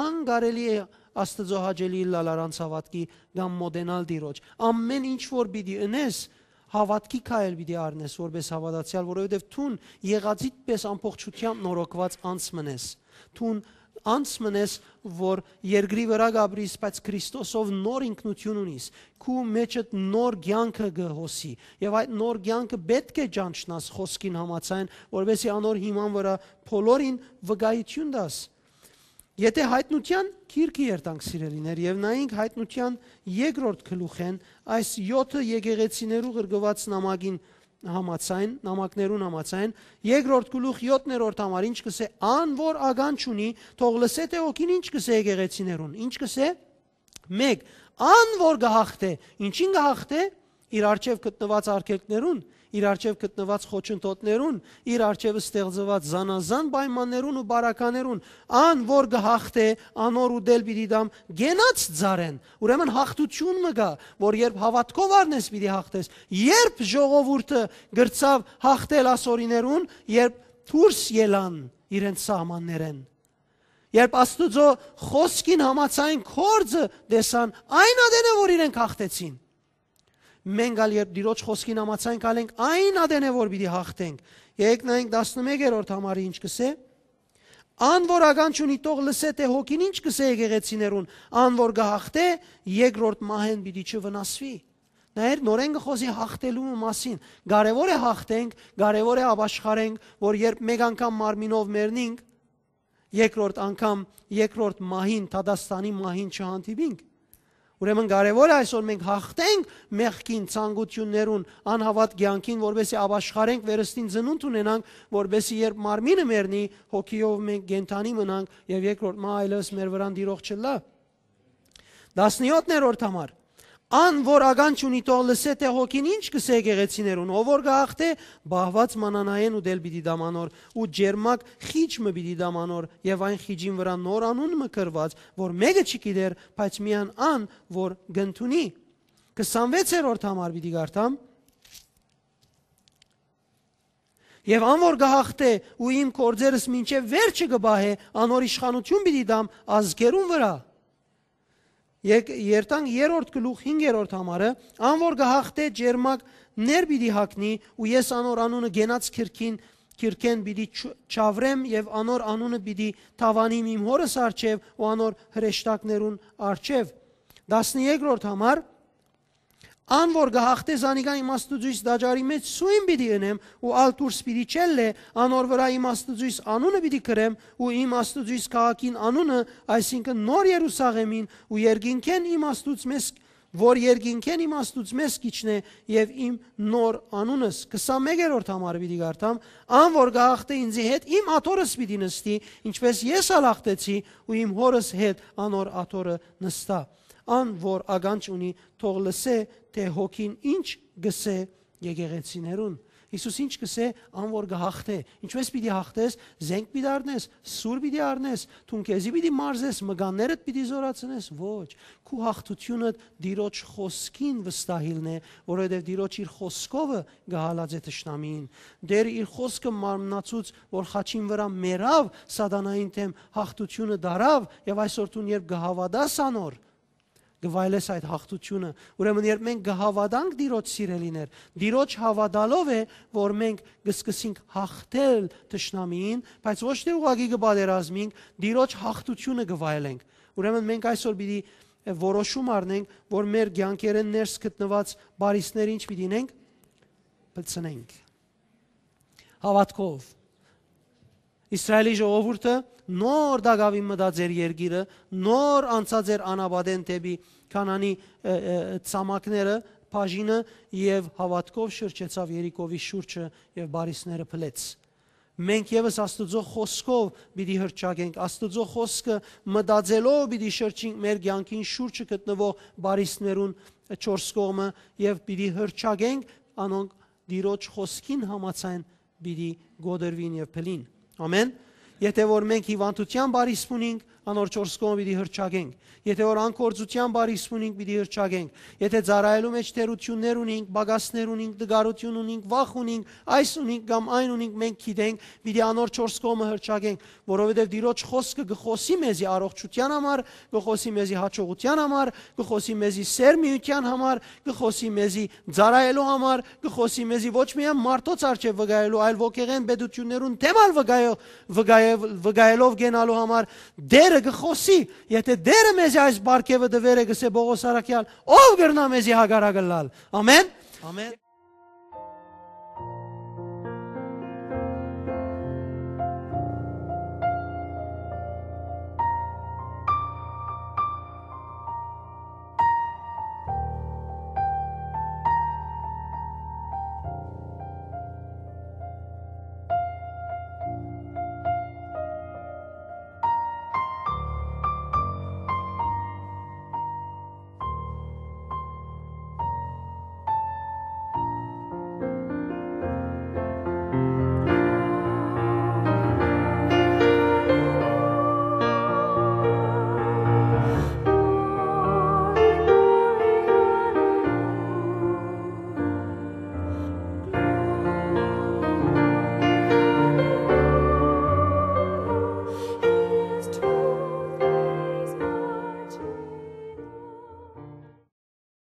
Անկարելի է Աստուծոյ հաճելի ըլլալ առանց հաւատքի կամ մոտենալ Տիրոջ։ Ամեն ինչ որ պիտի ընես, հաւատքի քայլ պիտի առնես որպէս հաւատացեալ, որովհետեւ դուն եղածիդ պէս ամբողջութեամբ նորոգուած անձ մըն ես։ Դուն անձ մըն ես, որ երկրի վրայ կ'ապրիս, բայց Քրիստոսով նոր ինքնութիւն ունիս, քու մէջդ նոր կեանքը կը հոսի, եւ այդ նոր կեանքը պէտք է ճանչնաս խօսքին համաձայն, որպէսզի անոր հիման վրայ բոլորին վկայութիւն տաս։ Եթէ Յայտնութեան գիրքը երթանք, սիրելիներ, եւ նայենք Յայտնութեան երկրորդ գլուխէն, այս յոթը եկեղեցիներու ղրկուած նամակին համաձայն, նամակներուն համաձայն, երկրորդ գլուխ, յոթերորդ համար, ինչ կսէ, ան որ ականջ ունի, թող լսէ թէ հոգին ինչ կսէ եկեղեցիներուն, ինչ կսէ, մեկ, ան որ կը հաղթէ, ինչին կը հաղթէ, իր առջեւ գտնուած արգելքներուն, իր առջեւ գտնուած խոչընդոտներուն, իր առջեւ ստեղծուած զանազան պայմաններուն ու բարականերուն, ան որ կը հաղթէ, անոր ուտել պիտի տամ կենաց ծառեն։ Ուրեմն հաղթութիւն մը կայ, որ երբ հաւատքով առնես, պիտի հաղթես։ Երբ ժողովուրդը գրցաւ հաղթել ասորիներուն, երբ դուրս ելան իրենց սահմաններէն, երբ Աստուծոյ խօսքին համաձայն գործը տեսան, այն ատեն է, որ իրենք հաղթեցին։ Մենք ալ երբ Տիրոջ խօսքին համաձայն քալենք, այն ատեն է, որ պիտի հաղթենք։ Եկեք նայենք տասնմեկերորդ համարը ինչ կսէ. «Ան որ ականջ ունի, թող լսէ թէ հոգին ինչ կսէ եկեղեցիներուն, ան որ կը հաղթէ, երկրորդ մահէն պիտի չվնասուի»։ Նայեր, նորէն կը խօսի հաղթելու մասին։ Կարեւոր է հաղթենք, կարեւոր է ապաշխարենք, որ երբ մեկ անգամ մարմինով մեռնինք, երկրորդ անգամ, երկրորդ մահին, դատաստանի մահին չհանդիպինք։ Ուրեմն կարեւոր է այսօր մենք հաղթենք մեղքին, ցանկութիւններուն, անհաւատ կեանքին, որպէսզի ապաշխարենք, վերստին ծնունդ ունենանք, որպէսզի երբ մարմինը մեռնի, հոգիով մենք կենդանի մնանք եւ երկրորդ մահ այլեւս մեր վրան դիրող չըլլայ։ Տասնյոթերորդ համար. «Ան որ ականջ ունի, թող լսէ թէ հոգին ինչ կսէ եկեղեցիներուն, ով որ կը հաղթէ, բահուած մանանային ուտել պիտի տամ անոր ու ջերմակ խիճ մը պիտի տամ անոր եւ այն խիճին վրայ նոր անուն մը գրուած, որ մէկը չի գիտեր, բայց միայն ան որ կ'ընդունի»։ Քսանվեցերորդ համար պիտի կարդամ. «Եւ ան որ կը հաղթէ ու իմ գործերս մինչեւ վերջը կը պահէ, անոր իշխանութիւն պիտի տամ ազգերուն վրայ»։ Եկ-, երթանք երրորդ գլուխ, հինգերորդ համարը. «Ան որ կը հաղթէ, ջերմակ ներ պիտի հագնի ու ես անոր անունը կենաց քիրքին կիրքէն պիտի չավրեմ եւ անոր անունը պիտի թաւանիմ իմ հօրս առջեւ ու անոր հրեշտակներուն առջեւ։ Տասներկրորդ համար, ան որ կը հաղթէ զանիկա իմ Աստուծոյս տաճարի մէջ սոյն պիտի ընեմ ու ալ դուրս պիտի չելլէ, անոր վրայ իմ Աստուծոյս անունը պիտի կրեմ ու իմ Աստուծոյս քաղաքին անունը, այսինքն նոր Երուսաղեմին ու երկինքէն իմ Աստուծոյս, որ երկինքէն իմ Աստուծոյս կ'իջնէ եւ իմ նոր անունս։ Քսանմեկերորդ համար պիտի կարդամ. «Ան որ կը հաղթէ ինծի հետ, իմ աթոռս պիտի նստի, ինչպես ես ալ հաղթեցի ու իմ հօրս հետ անոր աթոռը նստայ։ Ան որ ականջ ունի, թող լսէ, թէ հոգին ինչ կ'ըսէ եկեղեցիներուն»։ Յիսուս ինչ կ'ըսէ, ան որ կը հաղթէ։ Ինչպես պիտի հաղթես, զենք պիտի առնես, սուր պիտի առնես, դուն քեզի պիտի մարզես, մկաններդ պիտի զօրացնես, ոչ։ Քու հաղթութիւնդ Տիրոջ խօսքին վստահիլն է, որովհետեւ Տիրոջ իր խօսքովը կը հալածէ թշնամիին։ Տէրը իր խօսքը մարմնացուց, որ խաչին վրայ մեռաւ, սատանային դէմ հաղթութիւնը տարաւ, եւ այսօր դուն երբ կը հաւատաս անոր, կը վայելես այդ հաղթութիւնը։ Ուրեմն երբ մենք կը հաւատանք Տիրոջ, սիրելիներ, Տիրոջ հաւատալով է, որ մենք կը սկսենք հաղթել թշնամիին, բայց ոչ թէ ուղղակի կը պատերազմենք, Տիրոջ հաղթութիւնը կը վայելենք։ Ուրեմն մենք այսօր պիտի որոշում առնենք, որ մեր կեանքերէն ներս գտնուած բարիսները ինչ պիտի ինենք, պլցնենք։ Հաւատքով։ Իսրայէլի ժողովուրդը նոր տակաւին մտած էր երկիրը, նոր անցած էր անապատէն դէպի Քանանի, ը, ը, ցամաքները, բաժինը, եւ հաւատքով շրջեցաւ Երիքովի շուրջը եւ բարիսները փլեց։ Մենք եւս Աստուծոյ խօսքով պիտի հռչակենք, Աստուծոյ խօսքը մտածելով պիտի շրջենք մեր կեանքին շուրջը գտնուող բարիսներուն չորս կողմը եւ պիտի հռչակենք, անոնք Տիրոջ խօսքին համաձայն պիտի կոտրուին եւ փլին։ Ամեն։ Եթէ որ մենք հիւանդութեան բարիս ունինք, անոր չորս կողմը պիտի հռչակենք։ Եթէ որ անկործութեան բարիս ունինք, պիտի հռչակենք։ Եթէ ծառայելու մէջ թերութիւններ ունինք, պակասներ ունինք, տկարութիւն ունինք, վախ ունինք, այս ունինք կամ այն ունինք, մենք գիտենք, պիտի անոր չորս կողմը հռչակենք, որովհետեւ Տիրոջ խօսքը կը խօսի մեզի առողջութեան համար, կը խօսի մեզի յաջողութեան համար, կը խօսի մեզի սերմիութեան համար, կը խօսի մեզի ծառայելու համար, կը խօսի մեզի ոչ միայն մարդոց առջեւ վկայելու, այլ ոգեղէն պետութիւններուն դէմ ալ վկայ-, վկայ-, վկայելով կենալու համար Տէրը կը խօսի։ Եթէ Տէրը մեզի այս պարգեւը տուեր է, կ'ըսէ Պողոս առաքեալ, ո՞վ կրնայ մեզի հակառակ ըլլալ։ Ամեն։ Ամեն։